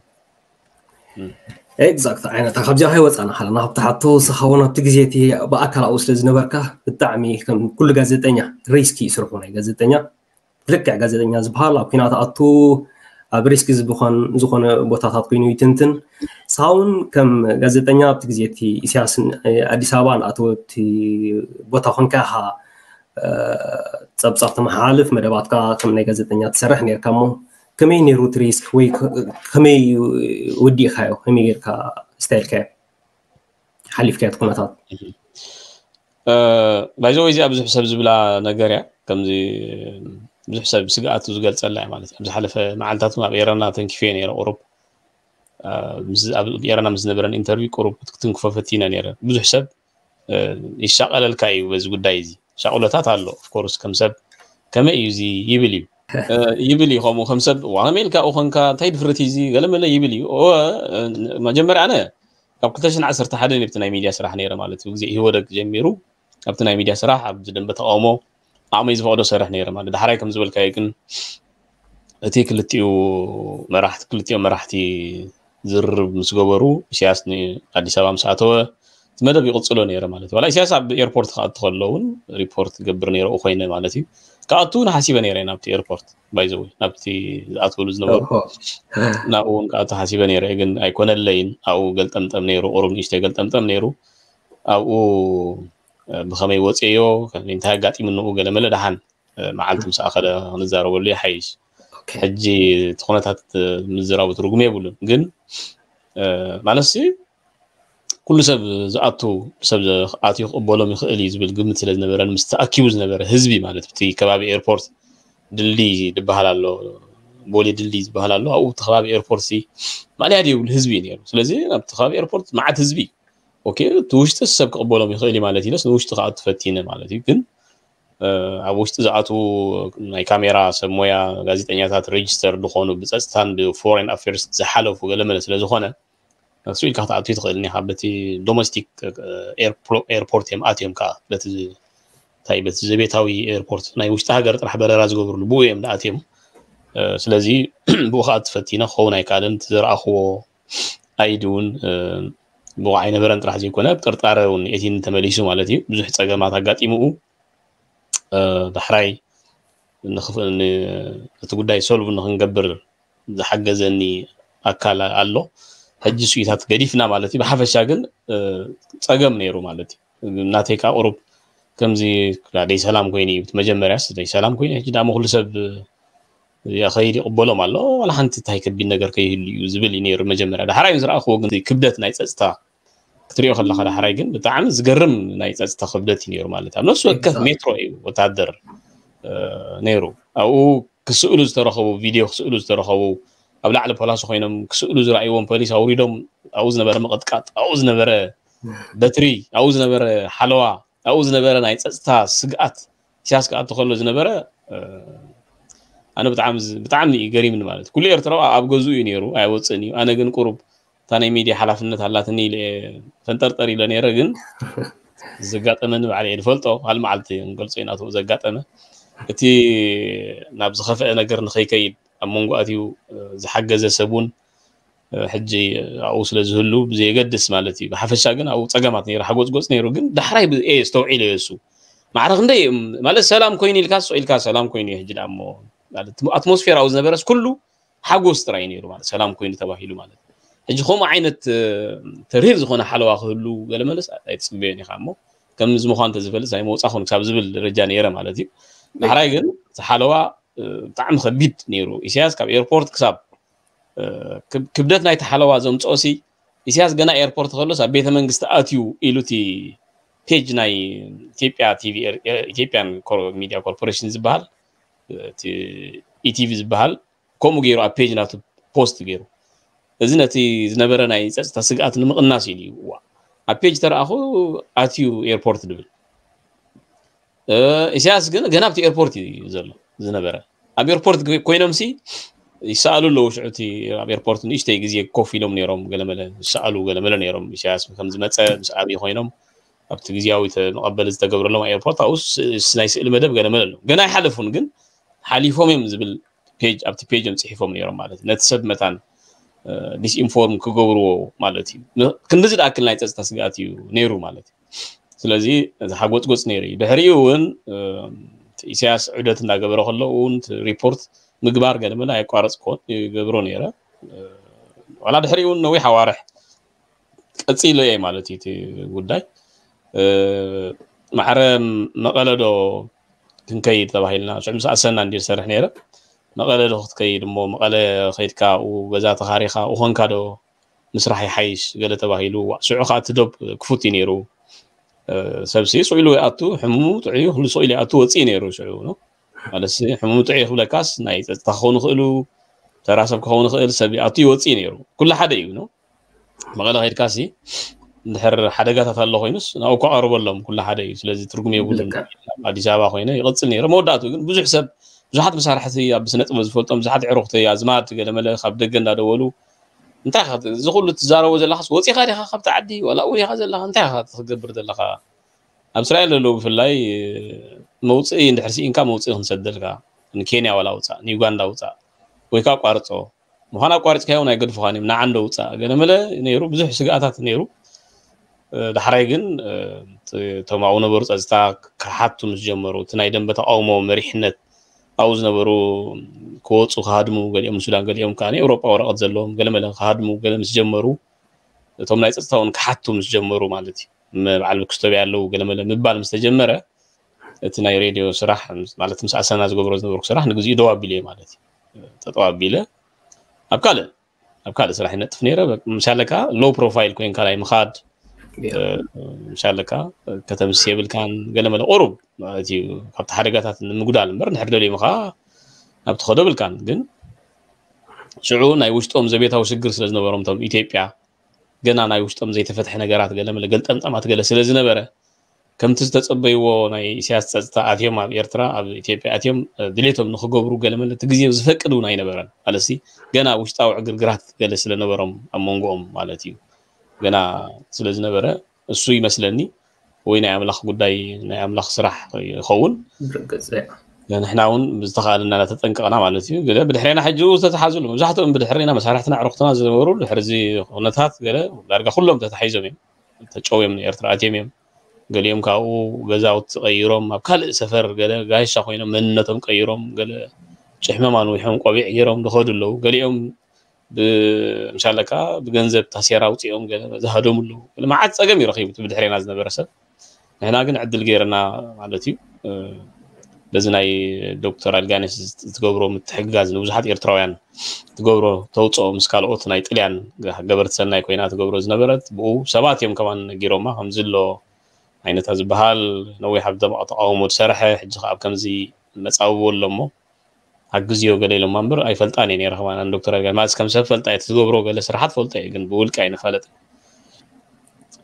ኤግዛክት ዓይነታ ካብዚኣ ከይወፃና ከለና ካብቲ ሓቶ ንስኻ እውን ኣብቲ ግዜ እቲ ብኣካል ኣብኡ ስለ ዝነበርካ ብጣዕሚ ከም ኩሉ ጋዜጠኛ ሪስክ እዩ ስርሑ ናይ ጋዜጠኛ ልክዕ ጋዜጠኛ ዝበሃል ኣብ ኩናት ኣቱ ኣብ ሪስክ ዝበኾን ዝኾነ ቦታታት ኮይኑ ይትንትን ንስኻ እውን ከም ጋዜጠኛ ኣብቲ ግዜ እቲ ኢሳያስ ኣዲስ ኣበባ ንኣተወ እቲ ቦታ ኮንካ ኢኻ እ፣ ፀብፃብ ተመሓላልፍ መደባትካ ከም ናይ ጋዜጠኛ ትሰርሕ ነርካ እሞ ከመይ ነይሩ እቲ ሪስክ ወይ ከ- ከመይ ወዲእካዮ ከመይ ጌርካ ስታይልካዮ ሓሊፍካዮ እቲ ኩነታት ባይዘወይ እዚኣ ብዙሕ ሰብ ዝብላ ነገር እያ። ከምዚ ብዙሕ ሰብ ስግኣቱ ዝገልፀላ እያ ማለት እዩ። ኣብ ዝሓለፈ መዓልታት እውን ኣብ ኤረና ተንኪፈ ነይረ ቁሩብ እ፣ ምስ- ኣብ ኤረና ምስ ዝነበረን ኢንተርቪው ቁሩብ ክትንክፎ ፈቲነ ነይረ። ብዙሕ ሰብ እ፣ ይሻቐለልካ እዩ በዚ ጉዳይ እዚ ሻቕሎታት ኣሎ። ኦፍኮርስ ከም ሰብ ከመይ እዩ እዚ ይብል እዩ እ፣ ይብል እዩ ከምኡ ከም ሰብ ዋ ከመይ ኢልካ ኡ ኮንካ እንታይ ድፍረት እዩ እዚ ገለመለ ይብል እዩ። እወ፣ እ፣ መጀመርያ ኣነ ካብ ክልተ ሽሕን ዓሰርተ ሓደን ኣብቲ ናይ ሚድያ ስራሕ ነይረ ማለት እዩ። ግዜ ኢህወደግ ጀሚሩ ኣብቲ ናይ ሚድያ ስራሕ ኣብ ደንበ ተቃውሞ ዓቕመይ ዝፈቕዶ ሰርሕ ነይረ ማለት ዳሕራይ ከም ዝበልካዮ ግን እቲ ክልቲኡ መራሕቲ ክልቲኦም መራሕቲ ዝርርብ ምስ ገበሩ ኢሳያስ ንኣዲስ ኣበባ ምስ ኣተወ እቲ መደብ ይቕፅሎ ነይረ ማለት እዩ። ዋላ ኢሳያስ ኣብ ኤርፖርት ክኣቱ ከሎ እውን ሪፖርት ገብር ነይረ ኡ ኮይነ ማለት እዩ። ክኣቱ እውን ሓሲበ ነይረ ናብቲ ኤርፖርት ባይዘወይ ናብቲ ዝኣትወሉ ዝነበሩ ኦሆ። ናብኡ እውን ክኣቱ ሓሲበ ነይረ ግን ኣይኮነለይን። ኣብኡ ገልጠምጠም ነይሩ ቁሩብ ንእሽተይ ገልጠምጠም ነይሩ። ኣብኡ እ፣ ብኸመይ ወፅዮ እንታይ ኣጋጢሙ ንኡ ገለመለ ደሓን እ፣ መዓልቲ ምስ ኣኸለ ክንዛረበሉ ይሓይሽ። ኦኬ። ሕጂ እቲ ኩነታት እ፣ ምዝራቡ ትርጉም የብሉን ግን እ፣ ማለትሲ ኩሉ ሰብ ዝኣቱ ሰብ ኣትዩ ክቕበሎም ይኽእል እዩ ዝብል ግምት ስለ ዝነበረን ምስ ተኣኪቡ ዝነበረ ህዝቢ ማለት እቲ ከባቢ ኤርፖርት ድልድይ ዝበሃል ኣሎ ቦሌ ድልድይ ዝበሃል ኣሎ ኣብኡ እቲ ከባቢ ኤርፖርት ሲ ማልያ ድየብሉ ህዝቢ እዩ ነይሩ። ስለዚ ናብቲ ከባቢ ኤርፖርት መዓት ህዝቢ እዩ። ኦኬ እቲ ውሽጢ ሰብ ክቕበሎም ይኽእል እዩ ማለት ኢለስ ንውሽጢ ክኣቱ ፈቲነ ማለት እዩ ግን እ፣ ኣብ ውሽጢ ዝኣትዉ ናይ ካሜራ ሰብ ሞያ ጋዜጠኛታት ሬጅስተር ዝኾኑ ብፀፅታን ብፎሬን ኣፌርስ ዝሓለፉ ገለመለ ስለ ዝኾነ እሱ ኢልካ ክትኣቱ ትኽእል ኒኻ በቲ ዶሜስቲክ ኤርፖርት እዮም ኣትዮም ከዓ በቲ እንታይ በቲ ዘቤታዊ ኤርፖርት ናይ ውሽጢ ሃገር ጥራሕ በረራ ዝገብርሉ ብኡ እዮም ኣትዮም እ፣ ስለዚ ብኡ ከዓ ትፈቲነ ክኸውን ኣይከኣልን እቲ ዝረኣኽዎ ኣይዲ እውን እ፣ ብቑዕ ኣይነበረን ጥራሕ ዘይኮነ ብጥርጣረ እውን የቲኒ ተመሊሱ ማለት እዩ ብዙሕ ፀገማት ኣጋጢምኡ እ፣ ዳሕራይ ንኽፍ- ን- እቲ ጉዳይ ሶልቭ ንክንገብር ዝሓገዘኒ ኣካል ኣሎ ሕጂ ስኢታት ገዲፍና ማለት እዩ ብሓፈሻ ግን እ፣ ፀገም ነይሩ ማለት እዩ ናተይ ከዓ ቁሩብ ከምዚ ደይ ሰላም ኮይኑ እዩ እቲ መጀመርያስ ደይ ሰላም ኮይኑ ሕጂ ዳሞ ኩሉ ሰብ እ፣ ከይድ ይቕበሎም ኣሎ ዋላ ሓንቲ እንታይ ከቢድ ነገር ከይህሉ እዩ ዝብል እዩ ነይሩ መጀመርያ ዳሕራይ ዝረኣኽዎ ግን ክብደት ናይ ፀፅታ ክትሪኦ ከለካ ዳሕራይ ግን ብጣዕሚ ዝገርም ናይ ፀፅታ ክብደት እዩ ነይሩ ማለት ኣብ ነፍሲ ወከፍ ሜትሮ እዩ ወታደር እ፣ ነይሩ ኣብኡ ክስእሉ ዝተረኸቡ ቪድዮ ክስእሉ ዝተረኸቡ ኣብ ላዕሊ ፖላሲ ኮይኖም ክስእሉ ዝረኣይዎም ፖሊስ ኣውሪዶም ኣብኡ ዝነበረ ምቕጥቃጥ ኣብኡ ዝነበረ በትሪ ኣብኡ ዝነበረ ሓለዋ ኣብኡ ዝነበረ ናይ ፀፅታ ስግኣት ኢሳያስ ክኣቱ ከሎ ዝነበረ ኣነ ብጣዕሚ ብጣዕሚ እዩ ገሪምኒ ማለት ኩሉ ኤርትራዊ ኣብ ገዝኡ እዩ ነይሩ ኣይወፅእን እዩ ኣነ ግን ቁሩብ እታ ናይ ሚድያ ሓላፍነት ኣላትኒ ኢለ ፈንጠርጠር ኢለ ነይረ ግን ዘጋጠመኒ ባዕለ እየ ዝፈልጦ ካል መዓልቲ ንገልፆ ኢና ዘጋጠመ እቲ ናብ ዝኸፍአ ነገር ንኸይከይድ ኣብ መንጎ ኣትዩ ዝሓገዘ ሰብ እውን ሕጂ ኣብኡ ስለ ዝህሉ ብዘየገድስ ማለት እዩ ብሓፈሻ ግን ኣብኡ ፀገማት ነይሩ ሓጎፅጎፅ ነይሩ ግን ዳሕራይ ብኤ ዝተውዒለ እሱ ማዕረ ክንደይ ማለት ሰላም ኮይኑ ኢልካ ስቕ ኢልካ ሰላም ኮይኑ እዩ ሕጂ ዳሞ ኣትሞስፌር ኣብኡ ዝነበረስ ኩሉ ሓጎስ ጥራይ ነይሩ ማለት ሰላም ኮይኑ ተባሂሉ ማለት ሕጂ ከምኡ ዓይነት ተሪር ዝኾነ ሓለዋ ክህሉ ገለመለስ ኣይትፅበዮን ኢኻ እሞ ከምዚ ምኳን ተዝፈልጥ ናይ መውፃ ኮኑ ክሳብ ዝብል ደረጃ ነይረ ማለት እዩ ዳሕራይ ግን ሓለዋ ብጣዕሚ ከቢድ ነይሩ ኢሳያስ ካብ ኤርፖርት ክሳብ ክብደት ናይቲ ሓለዋ ዘምፅኦ ሲ ኢሳያስ ገና ኤርፖርት ከሎስ ኣብ ቤተ መንግስቲ ኣትዩ ኢሉ እቲ ፔጅ ናይ ኢትዮጵያ ቲቪ ኢትዮጵያን ሚድያ ኮርፖሬሽን ዝበሃል ኢቲቪ ዝበሃል ከምኡ ገይሩ ኣብ ፔጅ ናቱ ፖስት ገይሩ እዚ ነቲ ዝነበረ ናይ ፀፅታ ስግኣት ንምቕናስ ኢሉ ይዋ ኣብ ፔጅ ተረኣኹ ኣትዩ ኤርፖርት ድብል ኢሳያስ ግን ገና ኣብቲ ኤርፖርት እዩ ዘሎ ዝነበረ ኣብ ኤርፖርት ኮይኖም ሲ ይሰኣሉ ኣለዉ ሽዑ እቲ ኣብ ኤርፖርት ንእሽተይ ግዜ ኮፍ ኢሎም ነይሮም ገለመለ ይሰኣሉ ገለመለ ነይሮም ኢሳያስ ከም ዝመፀ ምስ ኣብይ ኮይኖም ኣብቲ ግዜያዊ መቐበሊ ዝተገብረሎም ኣብ ኤርፖርት ኣብኡ ናይ ስእሊ መደብ ገለመለ ኣለዉ ገና ኣይሓለፉን ግን ሓሊፎም እዮም ዝብል ፔጅ ኣብቲ ፔጅ እዮም ፅሒፎም ነይሮም ማለት እዩ ነቲ ሰብ መታን ዲስኢንፎርም ክገብርዎ ማለት እዩ ክንድዚ ዝኣክል ናይ ፀፅታ ስግኣት እዩ ነይሩ ማለት እዩ ስለዚ እቲ ሓጎፅጎፅ ነይሩ እዩ ድሕሪኡ እውን ኢሳያስ ዑደት እንዳገበረ ከሎ እውን ሪፖርት ምግባር ገለመለ ኣየቋረፅኮን ይገብሮ ነይረ ዋላ ድሕሪኡ እውን ነዊሕ ኣዋርሕ ቀፂሉ እየ ማለት እዩ እቲ ጉዳይ ማዕረ መቐለዶ ክንከይድ ተባሂልና ሽዑ ምስ ኣሰና እንዲ ዝሰርሕ ነይረ መቐለ ዶ ክትከይድ እሞ መቐለ ከይድካ ኣብኡ ገዛ ተኻሪኻ ኣብኡ ኮንካ ዶ ምስራሕ ይሓይሽ ገለ ተባሂሉ ዋእ ሽዑ ከዓ እቲ ዶብ ክፉት እዩ ነይሩ ሰብሲ ስቕ ኢሉ ይኣቱ ሕሙሙ ጥዑዩ ኩሉ ስቕ ኢሉ ይኣቱ ወፅእ ነይሩ ሽዑ ማለት ሕሙሙ ጥዑዩ ክብለካስ ናይ ፀጥታ ክኸውን ይኽእሉ ተራ ሰብ ክኸውን ይኽእል ሰብ ይኣቱ ይወፅእ ነይሩ ኩሉ ሓደ እዩ ነው መቐለ ከይድካ ሲ እንድሕር ሓደጋታት ኣሎ ኮይኑስ ናብኡ ከቐርበሎም ኩሉ ሓደ እዩ ስለዚ ትርጉም የብሉን ኣዲስ ኣበባ ኮይነ ይቐፅል ነይረ መወዳእቱ ግን ብዙሕ ሰብ ብዙሓት መሳርሕቲ ኣብ ስነ ጥበብ ዝፈልጦም ብዙሓት ዕሩኽተይ ኣዝማድ ገለመለ ካብ ደገ እንዳደወሉ እንታይ እዚ ኩሉ ትዛረቦ ዘለኻስ ወፂኻ ዲኻ ካብቲ ዓዲ ዋላ ኣብኡ ዲኻ ዘለኻ እንታይ ኢኻ ክትገብር ዘለኻ ኣብ እስራኤል ዘለዉ ብፍላይ መውፅኢ እንድሕር ስኢንካ መውፅኢ ክንሰደልካ ንኬንያ ዋላ ውፃእ ንዩጋንዳ ውፃእ ወይ ከዓ ቋርፆ ምዃን ኣቋሪፅካዮ ናይ ገድፉኻን እዮም ንዓንዶ ውፃእ ገለመለ ነይሩ ብዙሕ ስግኣታት ነይሩ ዳሕራይ ግን እቶም ኣብኡ ነበሩ ፀፅታ ክሓቱ ምስ ጀመሩ እቲ ናይ ደንበ ተቃውሞ መሪሕነት ኣብኡ ዝነበሩ ክወፁ ክሃድሙ ገሊኦም ሱዳን ገሊኦም ከዓ ኤውሮጳ ወረቐት ዘለዎም ገለመለ ክሃድሙ ገለ ምስ ጀመሩ እቶም ናይ ፀፅታ እውን ክሓቱ ምስ ጀመሩ ማለት እዩ በዓል ክስቶብያ ኣለዉ ገለመለ ምባል ምስ ተጀመረ እቲ ናይ ሬድዮ ስራሕ ማለት ምስ ኣሰና ዝገብሮ ዝነበርኩ ስራሕ ንግዚኡ ደው ኣቢለ ማለት እዩ ጠጠው ኣቢለ ኣብ ካልእ ኣብ ካልእ ስራሕ ይነጥፍ ነይረ ምሻለካ ሎ ፕሮፋይል ኮይንካ ናይ ምኻድ ምሻለካ ከተምስ የብልካን ገለመለ ቁሩብ ማለት እዩ ካብቲ ሓደጋታት ንምጉዳል እምበር ንሕር ደልዮም ከዓ ኣብ ትኸዶ ብልካን ግን ሽዑ ናይ ውሽጦም ዘቤታዊ ሽግር ስለ ዝነበሮም ቶም ኢትዮጵያ ገና ናይ ውሽጦም ዘይተፈትሐ ነገራት ገለመለ ገልጠምጠማት ገለ ስለ ዝነበረ ከምቲ ዝተጸበይዎ ናይ ኢሳያስ ጸጥታ ኣትዮም ኣብ ኤርትራ ኣብ ኢትዮጵያ ኣትዮም ድሌቶም ንክገብሩ ገለመለ እቲ ግዜ ዝፈቅድ እውን ኣይነበረን ማለትሲ ገና ውሽጣዊ ዕግርግራት ገለ ስለነበሮም ኣብ መንጎኦም ማለት እዩ ገና ስለ ዝነበረ እሱ ይመስለኒ ወይ ናይ ኣምላኽ ጉዳይ ናይ ኣምላኽ ስራሕ ይኸውን ንሕና እውን ብዝተኻእለና እናተጠንቀቕና ማለት እዩ ገለ ብድሕሬና ሕጂ ዝተተሓዙሉ መብዛሕትኦም ብድሕሬና መሳርሕትና ዕሩኽትና ዝነበሩ ድሕርዚ ኩነታት ገለ ዳርጋ ኩሎም ተታሒዞም እዮም ተጨውዮም ንኤርትራ ኣትዮም እዮም ገሊኦም ካብኡ ገዛውቲ ቀይሮም ኣብ ካልእ ሰፈር ገለ ጋሻ ኮይኖም መንነቶም ቀይሮም ገለ ጭሕመም ኣንዊሖም ቆቢዕ ገይሮም ዝኸዱ ኣለዉ ገሊኦም ምሻለካ ብገንዘብ ታሴራ ኣውፅኦም ገለ ዝሃደሙ ኣለዉ ገለ መዓት ፀገም እዩ ረኪቡ ብድሕሬና ዝነበረ ሰብ ንሕና ግን ዕድል ገይርና ማለት እዩ በዚ ናይ ዶክተር ኣልጋነሽ ዝትገብሮ ምትሕግጋዝ ንብዙሓት ኤርትራውያን ትገብሮ ተውፅኦ ምስ ካልኦት ናይ ጥልያን ገበርቲ ሰናይ ኮይና ትገብሮ ዝነበረት ብኡ ሰባት እዮም ከማን ነጊሮማ ከምዚ ኣሎ ዓይነታ ዝበሃል ነዊሕ ኣብ ደማቕ ተቃውሞ ዝሰርሐ ሕጂ ከዓ ኣብ ከምዚ መፃብቦ ኣሎ እሞ ኣግዝዮ ገለ ኢሎማ እምበር ኣይፈልጣን እየ ነረ ከማን ዶክተር ኣልጋነሽ ማለት ከም ሰብ ፈልጣ እየ ትገብሮ ገለ ስራሓት ፈልጦ እየ ግን ብውልቂ ኣይንፋለጥ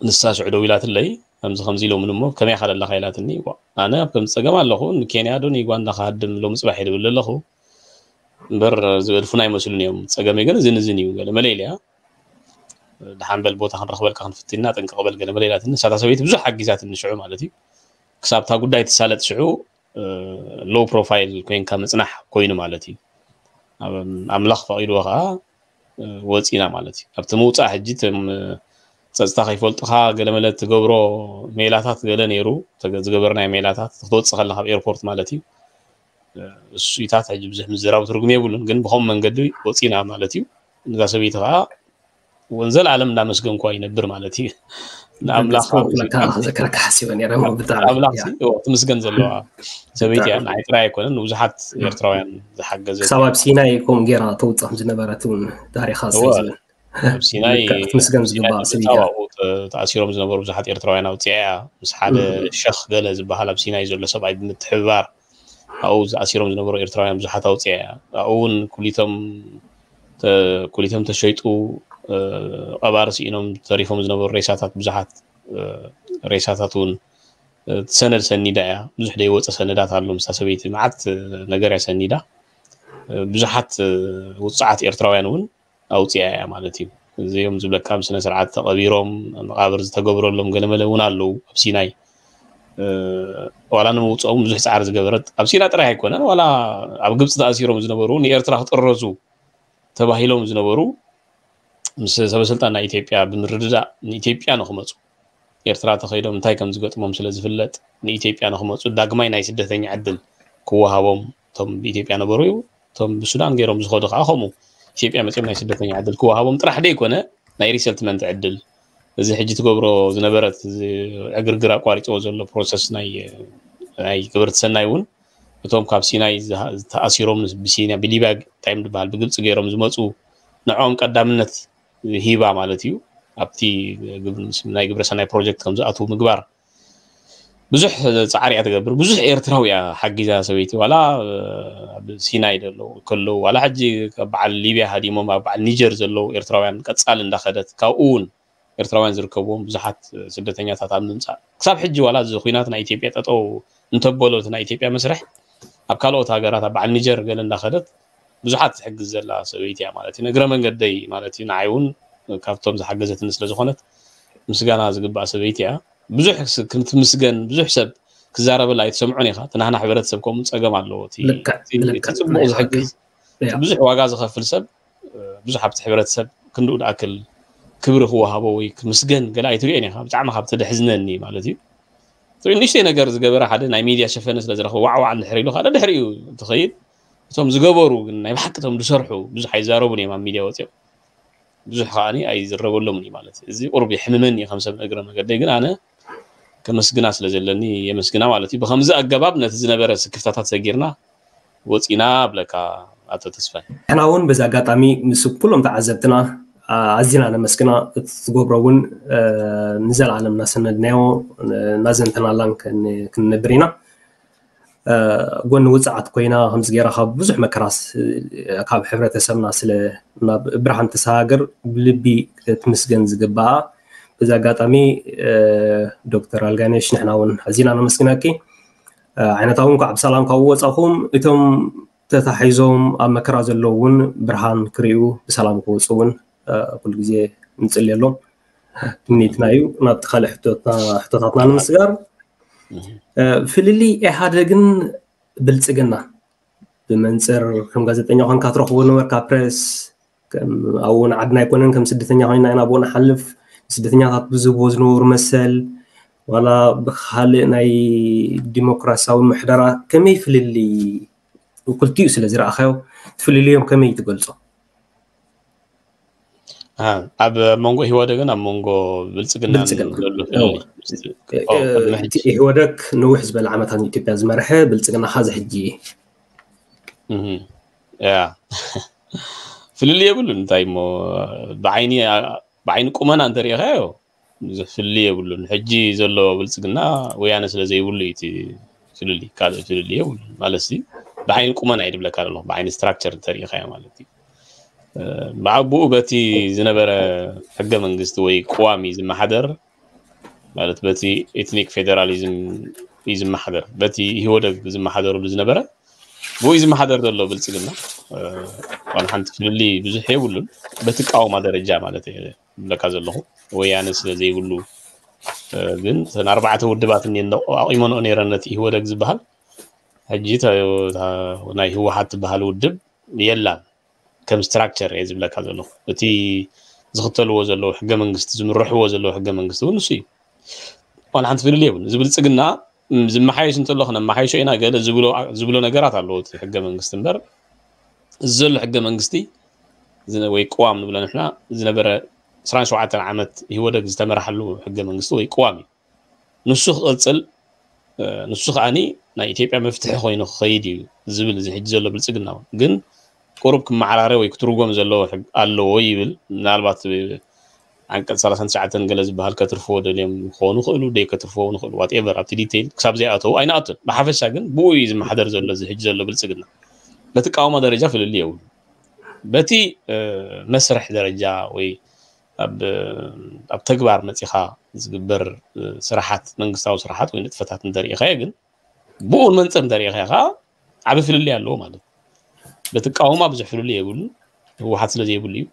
ንሳ ሽዑ ደው ኢላትለይ ከምዚ ከምዚ ኢሎምን እሞ ከመይ ኢኻ ደለኻ ኢላትኒ። ዋ፣ ኣነ ኣብ ከምዚ ጸገም ኣለኹ፣ ንኬንያ ዶ ንዩጋንዳ ክሃድም ሎሚ ጽባሕ እየ ዝብል ዘለኹ። እምበር ዝገድፉና ኣይመስሉን እዮም። ጸገመይ ግን እዝን እዝን እዩ፣ ገለ መለ ኢለያ። ደሓን በል ቦታ ክንረኽበልካ ክንፍትና ጥንቅቕ በል ገለ መለ ኢላትኒ። ንሳታ ሰበይቲ ብዙሕ ሓጊዛትኒ ሽዑ ማለት እዩ። ክሳብ እታ ጉዳይ ትሳለጥ ሽዑ ሎው ፕሮፋይል ኮይንካ ምጽናሕ ኮይኑ ማለት እዩ። ኣብ-፣ ኣምላኽ ፈቒድዎ ከዓ ወፂና ማለት እዩ። ኣብቲ ምውፃእ ሕጂ እቶም ጸጥታ ከይፈልጡኻ ገለመለ ትገብሮ ሜላታት ገለ ነይሩ፣ ተገ-፣ ዝገበርናዮ ሜላታት ክትወፅእ ከለኻ ካብ ኤርፖርት ማለት እዩ። እሱኢታት ሕጂ ብዙሕ ምዝራብ ትርጉም የብሉን፣ ግን ብኸምኡ መንገዲ ወፂና ማለት እዩ። ነዛ ሰበይቲ ከዓ ወንዘል ዓለም እንዳመስገንኳ ይነብር ማለት እዩ። ንኣምላኽ ተስፋ ክብለካ ክዘክረካ ሓሲበ ነይረ፣ እሞ ብጣዕሚ ኣምላኽ እያ። ሲ-፣ እዎ፣ ትምስገን ዘለዋ ሰበይቲ እያ። ብጣዕሚ። ንዓይ ጥራይ ኣይኮነን፣ ንብዙሓት ኤርትራውያን ዝሓገዘት ክሳብ እያ። ኣብ ሲናይ ከምኡ ጌራ ተውፅኦም ዝነበረት እውን ታሪኻ እወ፣ ስለ ዝብል። ኣብ ሲናይ ልክዕ፣ ክትምስገን ኣብ ሲናይ ዝግባእ ሰብ ተምጻእ እያ። ኣብኡ ተ-፣ ተኣሲሮም ዝነበሩ ብዙሓት ኤርትራውያን ኣውፅኣ እያ። ምስ ሓደ እም። ሸኽ ገለ ዝበሃል ኣብ ሲናይ ዘሎ ሰብኣይ ብምትሕብባር ኣብኡ ዝኣሲሮም ዝነበሩ ኤርትራውያን ብዙሓት ኣውፅኣ እያ። ኣብኡ እውን ኩሊቶም ተ-፣ ኩሊቶም ተሸይጡ፣ እ፣ ቀባሪ ስኢኖም ተሪፎም ዝነበሩ ሬሳታት ብዙሓት፣ እ፣ ሬሳታት እውን፣ እ፣ ሰነድ ሰኒዳ እያ። ብዙሕ ደይወፀ ሰነዳት ኣሎ ምስታ ሰበይቲ። መዓት፣ እ፣ ነገር እያ ሰኒዳ። እ፣ ብዙሓት፣ እ፣ ውጹዓት ኤርትራውያን እውን ኣውፂኣ እያ ማለት እዩ። እዚኦም ዝብለካ ብስነ ስርዓት ተቐቢሮም መቓብር ዝተገብረሎም ገለመለ እውን ኣለዉ ኣብ ሲናይ። እ፣ ዋላ ንምውፅኦም ብዙሕ ፃዕሪ ዝገበረት ኣብ ሲና ጥራይ ኣይኮነን፣ ዋላ ኣብ ግብፂ ተኣሲሮም ዝነበሩ ንኤርትራ ክጥረዙ ተባሂሎም ዝነበሩ ምስ ሰበስልጣን ናይ ኢትዮጵያ ብምርድዳእ ንኢትዮጵያ ንክመፁ ኤርትራ ተኸይዶም እንታይ ከም ዝገጥሞም ስለ ዝፍለጥ ንኢትዮጵያ ንክመፁ ዳግማይ ናይ ስደተኛ ዕድል ክወሃቦም እቶም ብኢትዮጵያ ነበሩ እዩ። እቶም ብሱዳን ገይሮም ዝኸዱ ከዓ ከምኡ ኢትዮጵያ መፅኦም ናይ ስደተኛ ዕድል ክወሃቦም ጥራሕ ደይኮነ ናይ ሪሰልትመንት ዕድል እዚ ሕጂ ትገብሮ ዝነበረት እዚ ዕግርግር ኣቋሪፅዎ ዘሎ ፕሮሰስ ናይ ናይ ገበርቲ ሰናይ እውን እቶም ካብ ሲናይ ዝሃ-፣ ዝተኣሲሮም ብሲና ብሊብያ እንታይ እዮም ዝበሃል ብግብፂ ገይሮም ዝመፁ ንዕኦም ቀዳምነት ሂባ ማለት እዩ። ኣብቲ ግብ-፣ ናይ ግብረ ሰናይ ፕሮጀክት ከም ዝኣትዉ ምግባር ብዙሕ ፃዕሪ እያ ትገብር። ብዙሕ ኤርትራዊ እያ ሓጊዛ ሰበይቲ። ዋላ ኣብ ሲናይ ዘለዉ ከለዉ፣ ዋላ ሕጂ ካብ በዓል ሊብያ ሃዲሞም ኣብ በዓል ኒጀር ዘለዉ ኤርትራውያን ቀጻሊ እንዳኸደት፣ ካብኡ እውን ኤርትራውያን ዝርከብዎም ብዙሓት ስደተኛታት ኣብ ምምጻእ፣ ክሳብ ሕጂ ዋላ እዚ ኲናት ናይ ኢትዮጵያ ጠጠው እንተበሎ፣ እቲ ናይ ኢትዮጵያ መስርሕ ኣብ ካልኦት ሃገራት፣ ኣብ በዓል ኒጀር ገለ እንዳኸደት ብዙሓት ትሕግዝ ዘላ ሰበይቲ እያ ማለት እዩ። ንእግረ መንገደይ ማለት እዩ፣ ንዓይ እውን ካብቶም ዝሓገዘትኒ ስለ ዝኾነት ምስጋና ዝግባእ ሰበይቲ እያ። ብዙሕ ስ-፣ ክትምስገን፣ ብዙሕ ሰብ ክዛረበላ ኣይትሰምዖን ኢኻ። እቲ ናህና ሕብረተሰብ ከምኡ ጸገም ኣለዎ። እቲ፣ ልክዕ፣ እቲ፣ እቲ ልክዕ፣ ጽቡቕ ናይ ሓቂ። ዝሕግዝ፣ እቲ እያ። ብዙሕ ዋጋ ዝኸፍል ሰብ፣ እ፣ ብዙሕ ኣብቲ ሕብረተሰብ ክንድኡ ዝኣክል ክብሪ ክወሃቦ ወይ ክምስገን ገለ ኣይትርእዮን ኢኻ። ብጣዕሚ ካብ ተደሕዝነኒ ማለት እዩ። ንእሽተይ ነገር ዝገበረ ሓደ ናይ ሚድያ ሸፈነ ስለ ዝረኽበ ዋዕ ዋዕ እንድሕር ኢሉ፣ ካልእ ድሕሪኡ ትኸይድ። እቶም ዝገበሩ ግን ናይ ብሓቂ እቶም ዝሰርሑ ብዙሕ ኣይዛረቡን እዮም ኣብ ሚድያ ወፂኦም። ብዙሕ ከዓኒ ኣይዝረበሎምን እዩ ማለት እዩ። እዚ ቁሩብ የሕምመኒ እዩ ከም ሰብ እግረ መገደይ፣ ግን ኣነ ከመስግና ስለ ዘለኒ የመስግና ማለት እዩ። ብኸምዚ ኣገባብ ነቲ ዝነበረ ስክፍታታት ሰጊርና ወፂና እብለካ ኣቶ ተስፋይ። ንሕና እውን በዚ ኣጋጣሚ ምስ ኩሎም ተዓዘብትና፣ ኣ-፣ ኣዚና ነመስግና። እቲ ትገብሮ እውን፣ እ፣ ንዘለኣለም እናሰነድናዮ፣ እ፣ እናዘንተናላን ክን-፣ ክንነብር ኢና። እ፣ ጎኒ ውፅዓት ኮይና ከምዚ ገይራ ካብ ብዙሕ መከራስ፣ እ፣ ካብ ሕብረተሰብና ስለ ናብ ብርሃን ተሰጋግር ብልቢ ክትምስገን ዝግባኣ። በዚ ኣጋጣሚ፣ እ፣ ዶክተር ኣልጋነሽ ንሕና እውን ኣዚና ነመስግነኪ። እ፣ ዓይነታ እውን እንኳዕ ብሰላም ካብኡ ወፃኹም። እቶም ተታሒዞም ኣብ መከራ ዘለዉ እውን ብርሃን ክርእዩ ብሰላም ክወፁ እውን፣ እ፣ ኩሉ ግዜ ንፅልየሎም። ትምኒትና እዩ። ናብቲ ካልእ ሕቶትና-፣ ሕቶታትና ንምስጋር፣ እህ። እ፣ ፍልልይ ኢህኣደግን ብልፅግና ብመንፅር ከም ጋዜጠኛ ኮንካ ትረኽቦ ነበርካ ፕሬስ፣ ከም ኣብኡ ንዓድና ኣይኮነን፣ ከም ስደተኛ ኮይና ኢና ኣብኡ ንሓልፍ። ስደተኛታት ብዝህብዎ ዝነበሩ መሰል፣ ዋላ ብኻልእ ናይ ዲሞክራሲያዊ ምሕደራ ከመይ ፍልልይ ክልቲኡ ስለ ዝረኣኻዮ፣ እቲ ፍልልዮም ከመይ ትገልጾ? ኣሃ፣ ኣብ መንጎ ኢህወደግን ኣብ መንጎ ብልጽግናን ብልጽግና። ዘሎ እዎ። ፍልልይ ምስቲ፣ እ-፣ ኦ፣ እ-፣ ቅድሚ እቲ ሕጂ። ኢህወደግ ነዊሕ ዝበለ ዓመታት ንኢትዮጵያ ዝመርሐ፣ ብልጽግና ኸኣ እዚ ሕጂ። እህ፣ ያ። ፍልልይ የብሉን፣ እንታይ እሞ፣ ብዓይኒ፣ ብዓይኒ ቁመና እንተሪኢኻዮ፣ ብዙሕ ፍልልይ የብሉን። ሕጂ ዘሎ ብልጽግና ወያነ ስለ ዘይብሉ እዩ እቲ ፍልልይ፣ ካልእ ፍልልይ የብሉን። ማለት ሲ፣ ብዓይኒ ቁመና እዩ ዝብለካ ዘለኹ፣ ብዓይኒ ስትራክቸር እንተሪኢኻዮ ማለት እዩ። እ፣ ብኣቡኡ በቲ ዝነበረ ሕገ መንግስቲ ወይ ቅዋም እዩ ዝመሓደር። ማለት በቲ ኤትኒክ ፌደራሊዝም እዩ ዝመሓደር፣ በቲ ኢህወደግ ዝመሓደርሉ ዝነበረ ብኡ እዩ ዝመሓደር ዘሎ ብልፅግና። ዋላ ሓንቲ ፍልልይ ብዙሕ የብሉን። በቲ ቃውማ ደረጃ ማለት እየ ዝብለካ ዘለኹ፣ ወያነ ስለ ዘይብሉ። ግን እተን ኣርባዕተ ውድባት እኒአን ኣቑመንኦ ነይረን ነቲ ኢህወደግ ዝበሃል፣ ሕጂ ናይ ህወሓት ትበሃል ውድብ የላን። ከም ስትራክቸር እየ ዝብለካ ዘለኹ። እቲ ዝኽተልዎ ዘለዉ ሕገ መንግስቲ፣ ዝምርሕዎ ዘለዉ ሕገ መንግስቲ እውን ንሱ እዩ። ዋላ ሓንቲ ፍልልይ የብሉን። እዚ ብልፅግና ዝመሓየሽ እንተሎ ክነመሓይሾ ኢና ገለ ዝብሎ ነገራት ኣለዎ እቲ ሕገ መንግስቲ እምበር፣ እዚ ዘሎ ሕገ መንግስቲ ወይ ቅዋም ንብሎ ንሕና ዝነበረ ዕስራን ሸውዓተን ዓመት ኢህወደግ ዝተመርሓሉ ሕገ መንግስቲ ወይ ቅዋም እዩ። ንሱ ክቕፅል፣ ንሱ ከዓኒ ናይ ኢትዮጵያ መፍትሒ ኮይኑ ክኸይድ እዩ ዝብል እዚ ሕጂ ዘሎ ብልፅግና እውን ግን ቁሩብ ክመዓራረ ወይ ክትርጎም ዘለዎ ኣለዎ ይብል። ምናልባት ዓንቀፅ ሰላሳን ትሽዓተን ገለ ዝበሃል ከትርፍዎ ደልዮም ክኾኑ ይኽእሉ፣ ደይ ከትርፍዎ ይኽእሉ፣ ዋትኤቨር ኣብቲ ዲቴይል ክሳብ ዘይኣተው ኣይንኣቱን። ብሓፈሻ ግን ብኡ እዩ ዝመሓደር ዘሎ እዚ ሕጂ ዘሎ ብልፅግና። በቲ ቃውማ ደረጃ ፍልልይ የብሉ። በቲ መስርሕ ደረጃ ወይ ኣብ ተግባር መፂኻ ዝግበር ስራሓት፣ መንግስታዊ ስራሓት ወይ ንጥፈታት እንተሪኢኻዮ ግን ብኡ መንፅር እንተሪኢኻዮ ከዓ ዓብ ፍልልይ ኣለዎ ማለት እዩ። በቲ ቃውማ ብዙሕ ፍልልይ የብሉን፣ ህወሓት ስለ ዘይብሉ እዩ።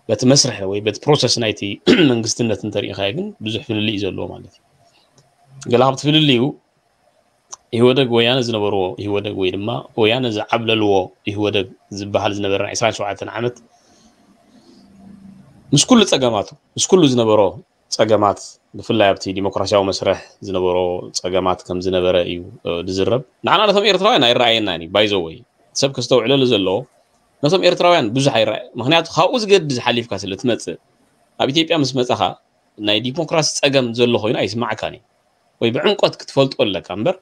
በቲ መስርሕ ወይ በቲ ፕሮሰስ ናይቲ መንግስትነት እንተሪኢኻዮ ግን ብዙሕ ፍልልይ እዩ ዘለዎ ማለት እዩ። ገለ ካብቲ ፍልልዩ ኢህወደግ ወያነ ዝነበርዎ ኢህወደግ ወይ ድማ ወያነ ዝዓብለልዎ ኢህወደግ ዝበሃል ዝነበረ ናይ ዕስራን ሸውዓተን ዓመት ምስ ኩሉ ፀገማቱ፣ ምስ ኩሉ ዝነበሮ ፀገማት፣ ብፍላይ ኣብቲ ዲሞክራሲያዊ መስርሕ ዝነበሮ ፀገማት ከም ዝነበረ እዩ ዝዝረብ። ንዓና ነቶም ኤርትራውያን ኣይረኣየና እዩ ባይዘወይ ሰብ ከስተውዕለሉ ዘለዎ። ነቶም ኤርትራውያን ብዙሕ ኣይረኣየ፣ ምክንያቱ ካብኡ ዝገድድ ሓሊፍካ ስለ ትመፅእ፣ ኣብ ኢትዮጵያ ምስ መፀኻ ናይ ዲሞክራሲ ፀገም ዘሎ ኮይኑ ኣይስማዓካን እዩ። ወይ ብዕምቆት ክትፈልጦ ኣለካ እምበር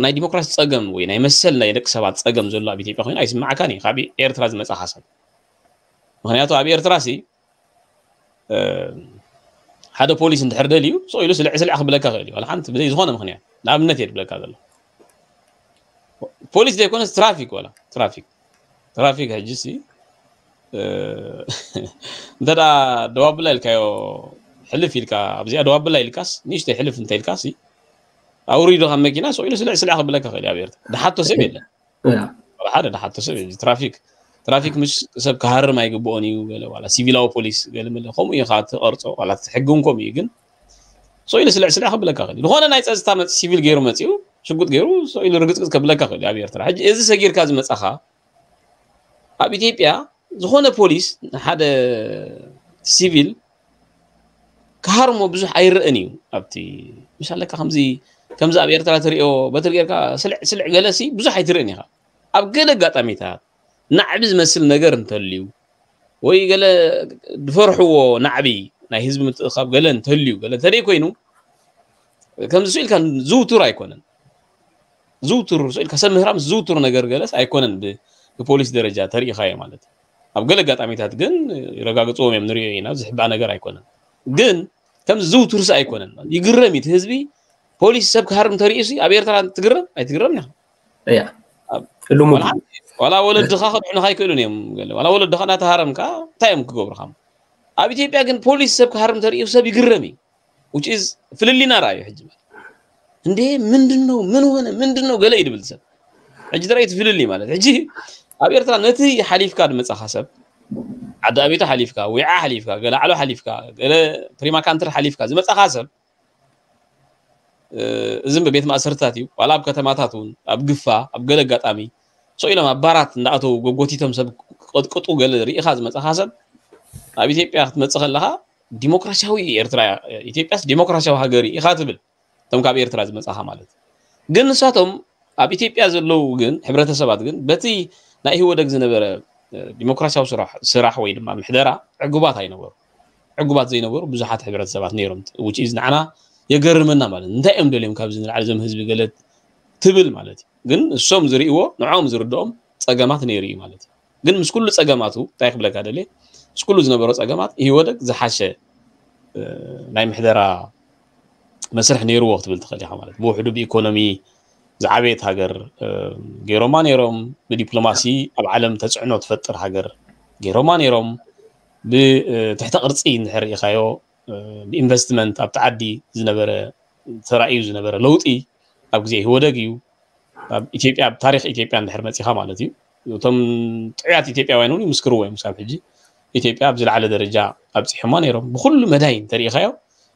ናይ ዲሞክራሲ ፀገም ወይ ናይ መሰል ናይ ደቂ ሰባት ፀገም ዘሎ ኣብ ኢትዮጵያ ኮይኑ ኣይስማዓካን እዩ ካብ ኤርትራ ዝመፃኻ ሰብ። ምክንያቱ ኣብ ኤርትራ ሲ ሓደ ፖሊስ እንድሕር ደልዩ ስቕ ኢሉ ስልዕ ስልዕ ክብለካ ክእል እዩ። ዋላ ሓንቲ ብዘይ ዝኾነ ምክንያት ንኣብነት እየ ድብለካ ዘሎ። ፖሊስ ዘይኮነስ ትራፊክ፣ ዋላ ትራፊክ ትራፊክ ሕጂ ሲ እንተ ደዋብላ ኢልካዮ ሕልፍ ኢልካ ኣብዚኣ ደዋብላ ኢልካስ ንእሽተይ ሕልፍ እንተ ኢልካ ሲ ኣውሪዱ ካብ መኪና ስቕ ኢሉ ስልዕ ስልዕ ክብለካ ክእል እዩ። ኣብ ኤርትራ ድሓቶ ሰብ የለን። ሓደ ድሓቶ ሰብ የለን። ትራፊክ ትራፊክ ምስ ሰብ ክሃርም ኣይግብኦን እዩ። ገለ ዋላ ሲቪላዊ ፖሊስ ገለ መለ ከምኡ እዩ ከዓ ትቐርፆ። ዋላ እቲ ሕጊ እውን ከምኡ እዩ። ግን ስቕ ኢሉ ስልዕ ስልዕ ክብለካ ክእል እዩ። ዝኾነ ናይ ፀጥታ መፅ ሲቪል ገይሩ መፂኡ ሽጉጥ ገይሩ ስቕ ኢሉ ርግፅግፅ ከብለካ ክእል እዩ ኣብ ኤርትራ። ሕጂ እዚ ሰጊርካ ዝመፃኻ ኣብ ኢትዮጵያ ዝኾነ ፖሊስ ንሓደ ሲቪል ክሃርሞ ብዙሕ ኣይረእን እዩ። ኣብቲ ምሻለካ ከምዚ ከምዚ ኣብ ኤርትራ ትሪኦ በትሪ ጌርካ ስልዕ ስልዕ ገለ ሲ ብዙሕ ኣይትርእን ኢኻ። ኣብ ገለ ኣጋጣሚታት ናዕቢ ዝመስል ነገር እንተልዩ ወይ ገለ ዝፈርሕዎ ናዕቢ ናይ ህዝቢ ምትእኻብ ገለ እንተልዩ ገለ እንተደይ ኮይኑ ከምዚ ስኢልካ ዝውቱር ኣይኮነን። ዝውቱር ስኢልካ ሰብ ምህራም ዝውቱር ነገር ገለስ ኣይኮነን። ብፖሊስ ደረጃ ተሪኢኻዮ ማለት ኣብ ገለ ኣጋጣሚታት ግን ይረጋግፅዎም እዮም ንሪኦ ኢና። ዝሕባእ ነገር ኣይኮነን። ግን ከም ዝውቱር ሲ ኣይኮነን። ይግረም እዩ ህዝቢ። ፖሊስ ሰብ ክሃርም ተሪኡ ሲ ኣብ ኤርትራ ትግረም ኣይትግረም ኢኻ። እያ ልሙድ ዋላ ወለድኻ ከድሕኑኻ ኣይክእሉን እዮም። ዋላ ወለድኻ እናተሃረምካ እንታይ እዮም ክገብሩኻ? ኣብ ኢትዮጵያ ግን ፖሊስ ሰብ ክሃርም ተሪኡ ሰብ ይግረም እዩ። Which is ፍልልይና ረኣዩ ሕጂ ማለት እንዴ ምንድን ነው ምን ሆነ ምንድን ነው ገለ ይድብል ሰብ። ሕጂ ተረእዩ ፍልልይ ማለት ሕጂ ኣብ ኤርትራ ነቲ ሓሊፍካ ዝመጻኻ ሰብ ዓዲ ኣቤቶ ሓሊፍካ፣ ዊዓ ሓሊፍካ፣ ገለ ዓሎ ሓሊፍካ፣ ገለ ፕሪማ ካንትሪ ሓሊፍካ ዝመጻኻ ሰብ እዝም ብቤት ማእሰርታት እዩ። ዋላ ኣብ ከተማታት እውን ኣብ ግፋ ኣብ ገለ ኣጋጣሚ ሰው ኢሎም ኣብ ባራት እንዳኣተው ጎጎቲቶም ሰብ ቅጥቅጡ ገለ ርኢኻ ዝመጻኻ ሰብ ኣብ ኢትዮጵያ ክትመጽእ ከለኻ ዲሞክራሲያዊ ኤርትራ ኢትዮጵያስ ዲሞክራሲያዊ ሃገር ኢኻ ትብል። እቶም ካብ ኤርትራ ዝመጻኻ ማለት ግን ንሳቶም ኣብ ኢትዮጵያ ዘለዉ ግን ሕብረተሰባት ግን በቲ ናይ ኢህወደግ ዝነበረ ዲሞክራሲያዊ ስራሕ ወይ ድማ ምሕደራ ዕጉባት ኣይነበሩ። ዕጉባት ዘይነበሩ ብዙሓት ሕብረተሰባት ነይሮም። Which is ንዓና የገርመና ማለት እንታይ እዮም ደልዮም ካብዚ ንላዕሊ እዞም ህዝቢ ገለ ትብል ማለት እዩ። ግን እሶም ዝርእይዎ ንዕኦም ዝርድኦም ጸገማት ነይሩ እዩ ማለት እዩ። ግን ምስ ኩሉ ጸገማቱ እንታይ ክብለካ ደልየ ምስ ኩሉ ዝነበሮ ጸገማት ኢህወደግ ዝሓሸ ናይ ምሕደራ መስርሕ ነይርዎ ክትብል ትኽእል ኢኻ ማለት ብውሕዱ ብኢኮኖሚ ዝዓበየት ሃገር ገይሮማ ነይሮም። ብዲፕሎማሲ ኣብ ዓለም ተፅዕኖ ትፈጥር ሃገር ገይሮማ ነይሮም። ብትሕተ ቅርፂ እንድሕር ርኢኻዮ ብኢንቨስትመንት ኣብቲ ዓዲ ዝነበረ ተራእዩ ዝነበረ ለውጢ ኣብ ግዜ ኢህወደግ እዩ። ኣብ ኢትዮጵያ ኣብ ታሪክ ኢትዮጵያ እንድሕር መፂኻ ማለት እዩ። እቶም ጥዑያት ኢትዮጵያውያን እውን ይምስክርዎ እዮም። ክሳብ ሕጂ ኢትዮጵያ ኣብ ዝለዓለ ደረጃ ኣብፂሖማ ነይሮም። ብኩሉ መዳይ እንተሪኢኻዮ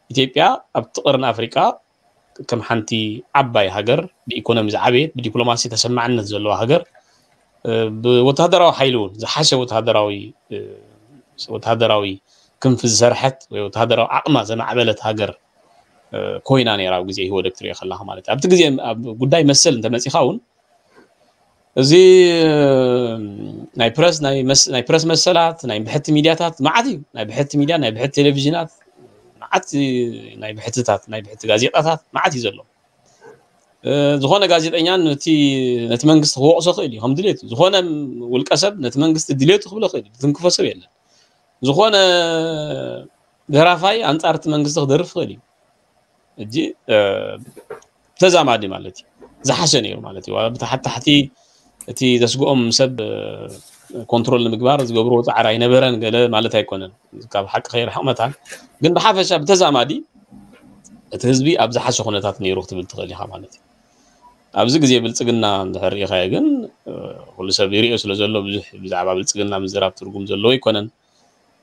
ኢትዮጵያ ኣብቲ ቀርኒ ኣፍሪቃ ከም ሓንቲ ዓባይ ሃገር ብኢኮኖሚ ዝዓበየት ብዲፕሎማሲ ተሰማዕነት ዘለዋ ሃገር ብወተሃደራዊ ሓይሊ እውን ዝሓሸ ወተሃደራዊ ወተሃደራዊ ክንፊ ዝሰርሐት ወይ ወተሃደራዊ ዓቕማ ዘማዕበለት ሃገር ኮይና ነይራ ኣብ ግዜ ኢህወደግ ትሪኦ ከለኻ ማለት እዩ። ኣብቲ ግዜ ኣብ ጉዳይ መሰል እንተመፂኻ እውን እዚ ናይ ፕረስ ናይ መስ- ናይ ፕረስ መሰላት ናይ ብሕቲ ሚድያታት መዓት እዩ። ናይ ብሕቲ ሚድያ ናይ ብሕቲ ቴሌቪዥናት መዓት ናይ ብሕትታት ናይ ብሕቲ ጋዜጣታት መዓት እዩ ዘሎ። ዝኾነ ጋዜጠኛ ነቲ ነቲ መንግስቲ ክወቕሶ ክእል እዩ ከም ድሌቱ። ዝኾነ ውልቀ ሰብ ነቲ መንግስቲ ድሌቱ ክብሎ ክእል እዩ። ዝትንክፎ ሰብ የለን። ዝኾነ ደራፋይ ኣንጻር እቲ መንግስቲ ክደርፍ ክእል እዩ። እጂ ተዛማዲ ማለት እዩ። ዝሓሸ ነይሩ ማለት እዩ። ብታሕቲ ታሕቲ እቲ ዘስግኦም ሰብ ኮንትሮል ንምግባር ዝገብርዎ ፃዕሪ ኣይነበረን ገለ ማለት ኣይኮነን። ካብ ሓቂ ከይርሕቕ መታን ግን ብሓፈሻ ብተዛማዲ እቲ ህዝቢ ኣብ ዝሓሸ ኩነታት ነይሩ ክትብል ትኽእል ኢኻ ማለት እዩ። ኣብዚ ግዜ ብልፅግና እንድሕር ርኢኻዮ ግን ኩሉ ሰብ ይሪኦ ስለ ዘሎ ብዙሕ ብዛዕባ ብልፅግና ምዝራብ ትርጉም ዘለዎ ኣይኮነን።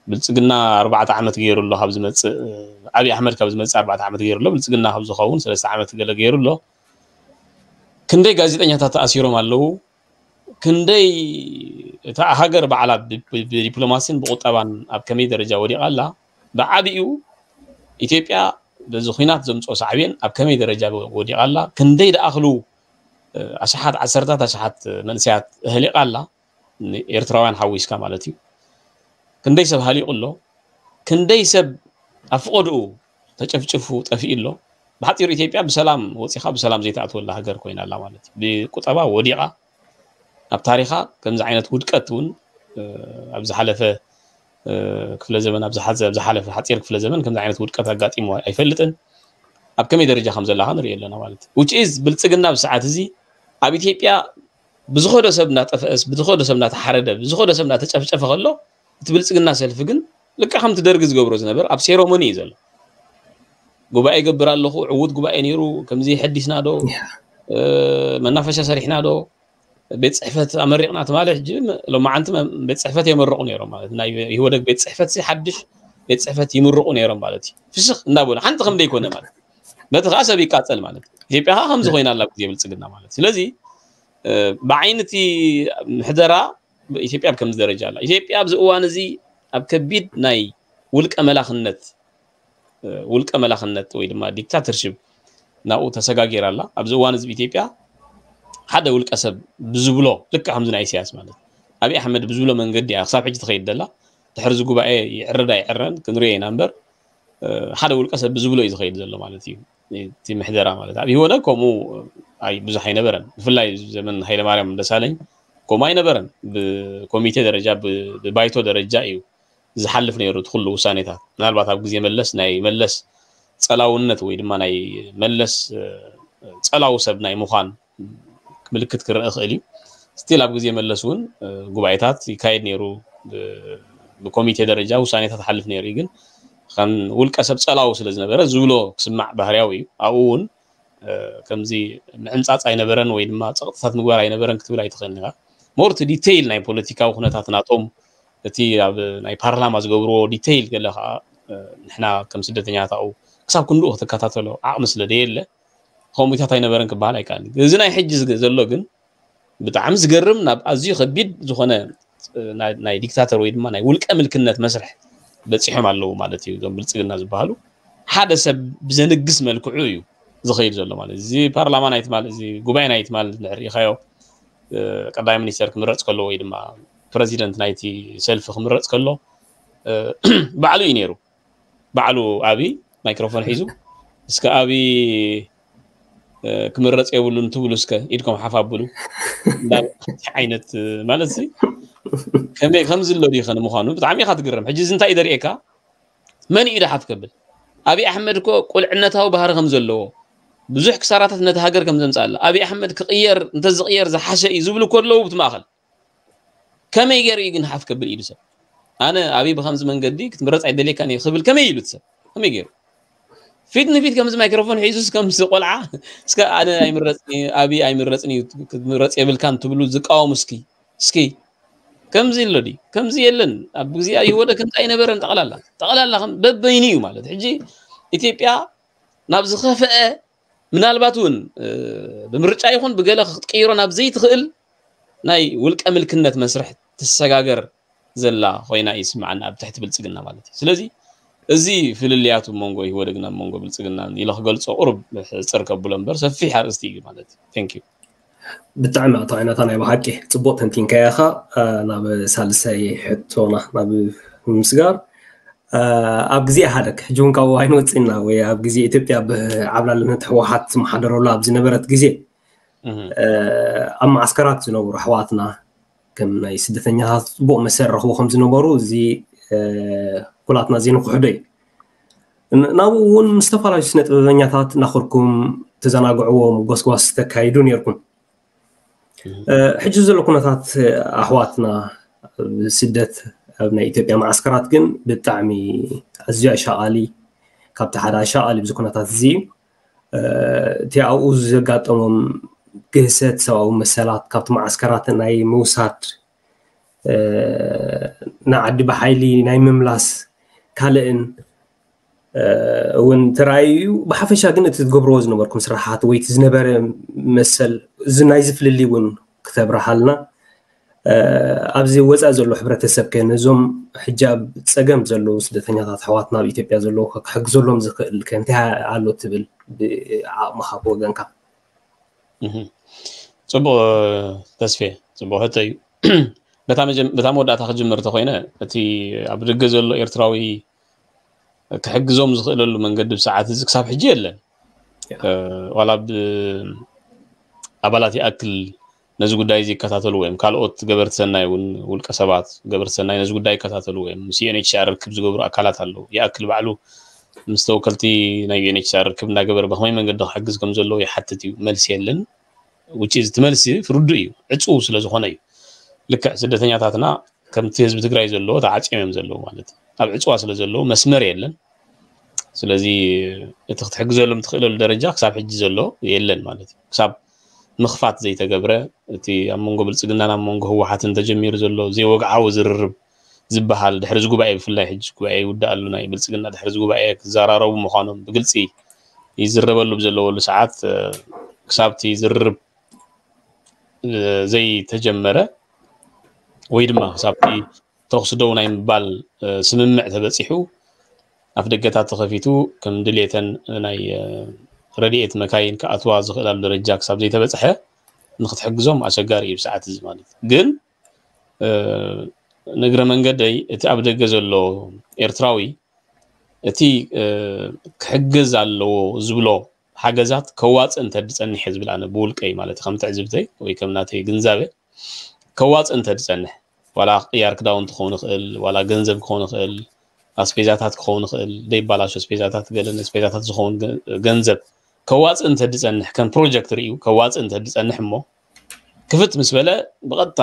ብልፅግና ኣርባዕተ ዓመት ገይሩ ኣሎ ካብ ዝመፅእ ኣብይ ኣሕመድ ካብ ዝመፅእ ኣርባዕተ ዓመት ገይሩ ኣሎ። ብልፅግና ካብ ዝኸውን ሰለስተ ዓመት ገለ ገይሩ ኣሎ። ክንደይ ጋዜጠኛታት ተኣሲሮም ኣለዉ። ክንደይ እታ ሃገር ባዕላ ብዲፕሎማሲን ብቁጠባን ኣብ ከመይ ደረጃ ወዲቓ ኣላ። ብዓብኡ ኢትዮጵያ በዚ ኩናት ዘምፅኦ ሳዕቤን ኣብ ከመይ ደረጃ ወዲቓ ኣላ። ክንደይ ደኣኽሉ ኣሽሓት ዓሰርታት ኣሽሓት መንእሰያት ኣህሊቓ ኣላ። ኤርትራውያን ሓዊስካ ማለት እዩ። ክንደይ ሰብ ሃሊቑ ኣሎ። ክንደይ ሰብ ኣብ ፍቐድኡ ተጨፍጭፉ ጠፊኡ ኣሎ። ብሓፂሩ ኢትዮጵያ ብሰላም ወፂኻ ብሰላም ዘይትኣትወላ ሃገር ኮይና ኣላ ማለት እዩ። ብቁጠባ ወዲቓ ኣብ ታሪኻ ከምዚ ዓይነት ውድቀት እውን ኣብ ዝሓለፈ ክፍለ ዘመን ኣብ ዝሓዘ ኣብ ዝሓለፈ ሓፂር ክፍለ ዘመን ከምዚ ዓይነት ውድቀት ኣጋጢሞ ኣይፈልጥን። ኣብ ከመይ ደረጃ ከም ዘላ ንሪኦ ኣለና ማለት እዩ። Which is ብልፅግና ብሰዓት እዚ ኣብ ኢትዮጵያ ብዝኸዶ ሰብ እናጠፈአስ ብዝኸዶ ሰብ እናተሓረደ ብዝኸዶ ሰብ እናተጨፍጨፈ ከሎ እቲ ብልፅግና ሰልፊ ግን ልክዕ ከምቲ ደርጊ ዝገብሮ ዝነበረ ኣብ ሴሮሞኒ እዩ ዘሎ። ጉባኤ ይገብር ኣለኹ፣ ዕዉት ጉባኤ ነይሩ፣ ከምዚ ሐዲስና ዶ መናፈሻ ሰሪሕና ዶ ቤት ፅሕፈት ኣመሪቕና ትማሊ ሕጂ ሎማዓንቲ ቤት ፅሕፈት የመርቑ ነይሮም ማለት ናይ ኢህወደግ ቤት ፅሕፈት ሓድሽ ቤት ፅሕፈት ይምርቑ ነይሮም ማለት እዩ። ፍሽኽ እንዳበሉ ሓንቲ ከም ዘይኮነ ማለት በቲ ከዓ ሰብ ይቃፀል ማለት ኢትዮጵያ ከዓ ከምዚ ኮይና ኣላ ግዜ ብልፅግና ማለት ስለዚ ብዓይነቲ ምሕደራ ኢትዮጵያ ኣብ ከምዚ ደረጃ ኣላ። ኢትዮጵያ ኣብዚ እዋን እዚ ኣብ ከቢድ ናይ ውልቀ መላኽነት ውልቀ መላኽነት ወይ ድማ ዲክታተርሽፕ ናብኡ ተሰጋጊራ ኣላ። ኣብዚ እዋን እዚ ኢትዮጵያ ሓደ ውልቀ ሰብ ብዝብሎ ልክዕ ከምዚ ናይ ኢሳያስ ማለት ኣብይ ኣሕመድ ብዝብሎ መንገዲ እያ ክሳብ ሕጂ ትኸይድ ዘላ። ድሕሪ እዚ ጉባኤ ይዕረድ ኣይዕረን ክንሪኦ ኢና እምበር ሓደ ውልቀ ሰብ ብዝብሎ እዩ ዝኸይድ ዘሎ ማለት እዩ። እቲ ምሕደራ ማለት ኣብ ኢህወደግ ከምኡ ኣይ ብዙሕ ኣይነበረን። ብፍላይ ዘመን ሃይለማርያም ደሳለኝ ከምኡ ኣይነበረን። ብኮሚቴ ደረጃ ብባይቶ ደረጃ እዩ ዝሓልፍ ነይሩ እቲ ኩሉ ውሳኔታት። ምናልባት ኣብ ግዜ መለስ ናይ መለስ ጸላውነት ወይ ድማ ናይ መለስ ጸላው ሰብ ናይ ምዃን ምልክት ክረአ ይኽእል እዩ። ስቲል ኣብ ግዜ መለስ እውን ጉባኤታት ይካየድ ነይሩ። ብኮሚቴ ደረጃ ውሳኔታት ሓልፍ ነይሩ እዩ። ግን ከም ውልቀ ሰብ ጸላው ስለ ዝነበረ ዝብሎ ክስማዕ ባህርያዊ እዩ። ኣብኡ እውን ከምዚ ምዕምጻጽ ኣይነበረን ወይ ድማ ጸቕጥታት ምግባር ኣይነበረን ክትብል ኣይትኽእልን ኢኻ። ሞር እቲ ዲቴይል ናይ ፖለቲካዊ ኩነታት ናቶም እቲ ኣብ ናይ ፓርላማ ዝገብርዎ ዲቴይል ገለ ከዓ ንሕና ከም ስደተኛታት ኣብኡ ክሳብ ክንድኡ ክትከታተሎ ዓቕሚ ስለ ደየለ ከምኡታት ኣይነበረን ክበሃል ኣይከኣልን። እዚ ናይ ሕጂ ዘሎ ግን ብጣዕሚ ዝገርም ናብ ኣዝዩ ከቢድ ዝኾነ ናይ ዲክታተር ወይ ድማ ናይ ውልቀ ምልክነት መስርሕ በፂሖም ኣለዉ ማለት እዩ። እዞም ብልፅግና ዝበሃሉ ሓደ ሰብ ብዘንግስ መልክዑ እዩ ዝኸይድ ዘሎ ማለት እዚ ፓርላማ ናይ ትማል እዚ ጉባኤ ናይ ትማል ንዕር ኢኻዮ ቀዳማይ ሚኒስተር ክምረፅ ከሎ ወይ ድማ ፕረዚደንት ናይቲ ሰልፊ ክምረፅ ከሎ ባዕሉ እዩ ነይሩ። ባዕሉ ኣብይ ማይክሮፎን ሒዙ እስከ ኣብይ ክምረፅ የብሉን ትብሉ እስከ ኢድኩም ሓፍ ኣብሉ ዓይነት ማለት ከመይ ከምዚ ኣሎ ድዩ ከ ንምዃኑ ብጣዕሚ ኢኻ ትግረም። ሕጂ እዚ እንታይ እዩ ደርእየካ? መን እዩ ደሓፍ ከብል ኣብይ ኣሕመድ እኮ ቁልዕነታዊ ባህሪ ከም ዘለዎ ብዙሕ ክሳራታት ነቲ ሃገር ከም ዘምፅኣላ ኣብይ ኣሕመድ ክቕየር እንተዝቕየር ዝሓሸ እዩ ዝብሉ እኮ ኣለዉ ብቲ ማእኸል ከመይ ገይሩ እዩ ግን ሓፍ ከብል ኢሉ ሰብ ኣነ ኣብይ ብከምዚ መንገዲ ክትምረፅ ኣይደልየካን እየ ክብል ከመይ ኢሉ እቲ ሰብ ከመይ ገይሩ? ፊት ንፊት ከምዚ ማይክሮፎን ሒዙስ ከምዚ ቆልዓ፣ እስከ ኣነ ኣይምረጽን እዩ፣ ኣብይ ኣይምረጽን እዩ፣ ክትምረጽ የብልካን ትብሉ ዝቃወሙ እስኪ፣ እስኪ። ከምዚ ኣሎ ድዩ? ከምዚ የለን። ኣብ ግዜ ኣይወደ ከምዚ ኣይነበረን። ጠቕላላ፣ ጠቕላላ ከም በበይኑ እዩ ማለት። ሕጂ ኢትዮጵያ ናብ ዝኸፍአ፣ ምናልባት እውን፣ እ፣ ብምርጫ ይኹን ብገለ ክትቅይሮ ናብ ዘይትኽእል ናይ ውልቀ ምልክነት መስርሕ ትሰጋገር ዘላ ኮይና ይስምዓና ኣብ ትሕቲ ብልጽግና ማለት እዩ። ስለዚ እዚ ፍልልያቱ መንጎ ኢህወደግን ኣብ መንጎ ብልጽግናን ኢለ ክገልጾ ቁሩብ ሕጽር ከብሎ እምበር ሰፊሕ ኣርእስቲ እዩ ማለት እዩ። Thank you። ብጣዕሚ ኣቶ ዓይነታ ናይ ብሓቂ ጽቡቕ ተንቲንካዮ ኢኻ። እ፣ ናብ ሳልሳይ ሕቶና ናብ ምስጋር፣ እ፣ ኣብ ግዜ ኢህኣደግ፣ ሕጂ እውን ካብኡ ኣይንወጽእና ወይ ኣብ ግዜ ኢትዮጵያ ብዓብላልነት ህወሓት ዝመሓደረሉ ኣብ ዝነበረት ግዜ፣ እህ። እ፣ ኣብ ማዓስከራት ዝነበሩ ኣሕዋትና ከም ናይ ስደተኛታት ጽቡቕ መሰል ረኽቡ ከም ዝነበሩ እዚ፣ እ፣ ኩላትና ዘይንክሕዶ እዩ። ን-፣ ናብኡ እውን ምስ ዝተፈላለዩ ስነ ጥበበኛታት እናኸድኩም ተዘናግዕዎም፣ ጎስጓስ ተካይዱ ነይርኩም። እህ። እ፣ ሕጂ ዘሎ ኩነታት ኣሕዋትና ስደት ኣብ ናይ ኢትዮጵያ ማዓስከራት ግን ብጣዕሚ ኣዝዩ ኣሻቓሊ፣ ካብቲ ሓደ ኣሻቓሊ ኣብዚ ኩነታት እዚ እዩ። እ፣ እቲ ኣብኡ ዘጋጠሞም ግህሰት ሰብኣዊ መሰላት፣ ካብቲ ማዓስከራት ናይ ምውሳድ፣ እ፣ ንዓዲ ብሓይሊ ናይ ምምላስ ካልእን፣ እ፣ እውን ተራእዩ እዩ። ብሓፈሻ ግን እቲ ትገብርዎ ዝነበርኩም ስራሓት ወይ እቲ ዝነበረ መሰል፣ እዚ ናይዚ ፍልልይ እውን ክተብርሃልና፣ እ፣ ኣብዚ ወፃኢ ዘሎ ሕብረተሰብ ከ ነዞም ሕጂ ኣብ ፀገም ዘለዉ ስደተኛታት ኣሕዋትና ኣብ ኢትዮጵያ ዘለዉ ከ ክሕግዘሎም ዝኽእል ከ እንታይ ኣሎ ትብል ብዓቕምኻ ብወገንካ? እህ። ጽቡቕ ተስፌ፣ ጽቡቕ ሕቶ እዩ። በታ መጀም-፣ በታ መወዳእታ ክጅምር እንተኾይነ፣ እቲ ኣብ ደገ ዘሎ ኤርትራዊ ክሕግዞም ዝኽእለሉ መንገዲ ብሰዓት እዚ ክሳብ ሕጂ የለን። ያ። እ፣ ዋላ ብ-፣ ኣባላት ይኣክል ነዚ ጉዳይ እዚ ይከታተሉ ወይም ካልኦት ገበርቲ ሰናይ እውን፣ ውልቀ ሰባት ገበርቲ ሰናይ ነዚ ጉዳይ ይከታተሉ ወይም ምስ ዩ ኤን ኤች ሲ ኣር ርክብ ዝገብሩ ኣካላት ኣለዉ። ይኣክል ባዕሉ ምስ ተወከልቲ ናይ ዩ ኤን ኤች ሲ ኣር ርክብ እናገበረ ብኸመይ መንገዲ ክሕግዝ ከም ዘለዎ ይሓትት እዩ። መልሲ የለን። Which is፣ እቲ መልሲ ርዱእ እዩ። ዕጹው ስለ ዝኾነ እዩ። ልክዕ ስደተኛታትና ከምቲ ህዝቢ ትግራይ ዘለዎ ተዓጽዮም እዮም ዘለዉ ማለት እዩ። ኣብ ዕጽዋ ስለ ዘለዉ መስመር የለን። ስለዚ እቲ ክትሕግዘሎም ትኽእለሉ ደረጃ ክሳብ ሕጂ ዘሎ የለን ማለት እዩ። ክሳብ ምኽፋት ዘይተገብረ፣ እቲ ኣብ መንጎ ብልጽግናን ኣብ መንጎ ህወሓትን ተጀሚሩ ዘሎ ዘይወግዓዊ ዝርርብ ዝበሃል፣ ድሕሪ እዚ ጉባኤ፣ ብፍላይ ሕጂ ጉባኤ ይውዳእ ኣሎ፣ ናይ ብልጽግና ድሕሪ እዚ ጉባኤ ክዘራረቡ ምዃኖም ብግልጺ ይዝረበሉ ብዘለወሉ ሰዓት፣ እ፣ ክሳብ እቲ ዝርርብ፣ እ፣ ዘይተጀመረ ወይ ድማ ክሳብ እቲ ተኹሲ ደው ናይ ምባል፣ እ፣ ስምምዕ ተበጺሑ፣ ኣፍ ደገታት ተኸፊቱ፣ ከም ድሌተን ናይ፣ እ፣ ረድኤት መካይን ክኣትዋ ዝኽእላሉ ደረጃ ክሳብ ዘይተበጽሐ፣ ንክትሕግዞም ኣሸጋሪ እዩ ብሰዓት እዚ ማለት እዩ። ግን፣ እ፣ ንእግረ መንገደይ እቲ ኣብ ደገ ዘሎ ኤርትራዊ እቲ፣ እ፣ ክሕገዝ ኣለዎ ዝብሎ ሓገዛት ከዋጽእ እንተድጸንሕ እየ ዝብል ኣነ ብውልቀይ ማለት እዩ፣ ከም ትዕዝብተይ ወይ ከም ናተይ ግንዛበ ከዋጽእ እንተድጸንሕ፣ ዋላ ቅያር ክዳውንቲ ክኸውን ይኽእል፣ ዋላ ገንዘብ ክኸውን ይኽእል፣ ኣስቤዛታት ክኸውን ይኽእል፣ ደይባላሾ ኣስቤዛታት፣ ገለ ኣስቤዛታት ዝኸውን ገ-፣ ገንዘብ ከዋጽእ እንተድጸንሕ፣ ከም ፕሮጀክት ርእዩ ከዋጽእ እንተድጸንሕ እሞ ክፍት ምስ በለ ብቐጥታ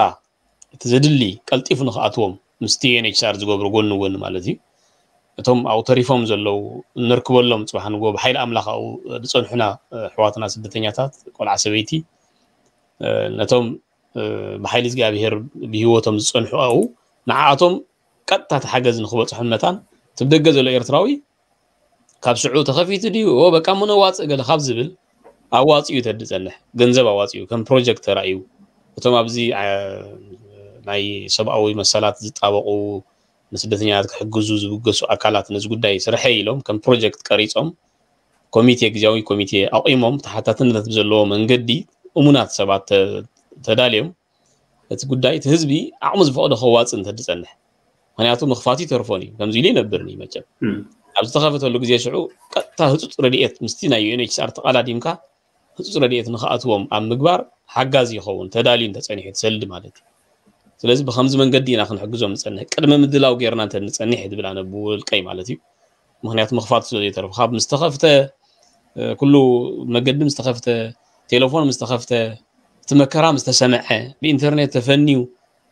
እቲ ዘድሊ ቀልጢፉ ንኽኣትዎም ምስቲ ዩ ኤን ኤች ሲ ኣር ዝገብሮ ጎኒ ጎኒ ማለት እዩ። እቶም ኣብኡ ተሪፎም ዘለዉ፣ እንርክበሎም፣ ጽባሕ ንግሆ ብሓይሊ ኣምላኽ ኣብኡ ዝጸንሑና፣ እ፣ ኣሕዋትና ስደተኛታት፣ ቆልዓ ሰበይቲ፣ እ፣ ነቶም፣ እ፣ ብሓይሊ እግዚኣብሄር ብህይወቶም ዝጸንሑ ኣብኡ፣ ንዓኣቶም ቀጥታ እቲ ሓገዝ ንኽበጽሖም መታን፣ እቲ ብደገ ዘሎ ኤርትራዊ ካብ ሽዑ ተኸፊቱ ድዩ? ኦ፣ በቃ እሞ ነዋጽእ ገለ ካብ ዝብል፣ ኣዋጺኡ ተድጸንሕ፣ ገንዘብ ኣዋጺኡ፣ ከም ፕሮጀክት ተራእዩ፣ እቶም ኣብዚ፣ ዓ-፣ ናይ ሰብኣዊ መሰላት ዝጣበቑ፣ ንስደተኛታት ክሕግዙ ዝብገሱ ኣካላት ነዚ ጉዳይ ስርሐይ ኢሎም ከም ፕሮጀክት ቀሪጾም፣ ኮሚቴ፣ ግዝያዊ ኮሚቴ ኣቑሞም፣ ተሓታትነት ብዘለዎ መንገዲ እሙናት ሰባት ተ-፣ ተዳልዮም፣ እቲ ጉዳይ እቲ ህዝቢ ዓቕሙ ዝፈቕዶ ከዋጽእ እንተድጸንሕ፣ ምኽንያቱ ምኽፋቱ ይተርፎን እዩ፣ ከምዚ ኢሉ ይነብርን እዩ መቸም። እም። ኣብ ዝተኸፈተሉ ግዜ ሽዑ ቀጥታ ህጹጽ ረድኤት ምስቲ ናይ ዩ ኤን ኤች ሲ ኣር ተቓላዲምካ ህጹጽ ረድኤት ንኽኣትዎም ኣብ ምግባር ሓጋዚ ይኸውን፣ ተዳልዩ እንተጸኒሑ እቲ ሰልዲ ማለት እዩ። ስለዚ ብኸምዚ መንገዲ ኢና ክንሕግዞም ንጸንሕ፣ ቅድመ ምድላው ጌርና እንተ ንጸንሕ ዝብል ኣነ ብውልቀይ ማለት እዩ። ምኽንያቱ ምኽፋቱ ስለ ዘይተርፎ፣ ካብ ምስ ተኸፍተ፣ እ፣ ኩሉ መገዲ ምስ ተኸፍተ፣ ቴሌፎን ምስ ተኸፍተ፣ እቲ መከራ ምስ ተሰምዐ፣ ብኢንተርኔት ተፈንዩ፣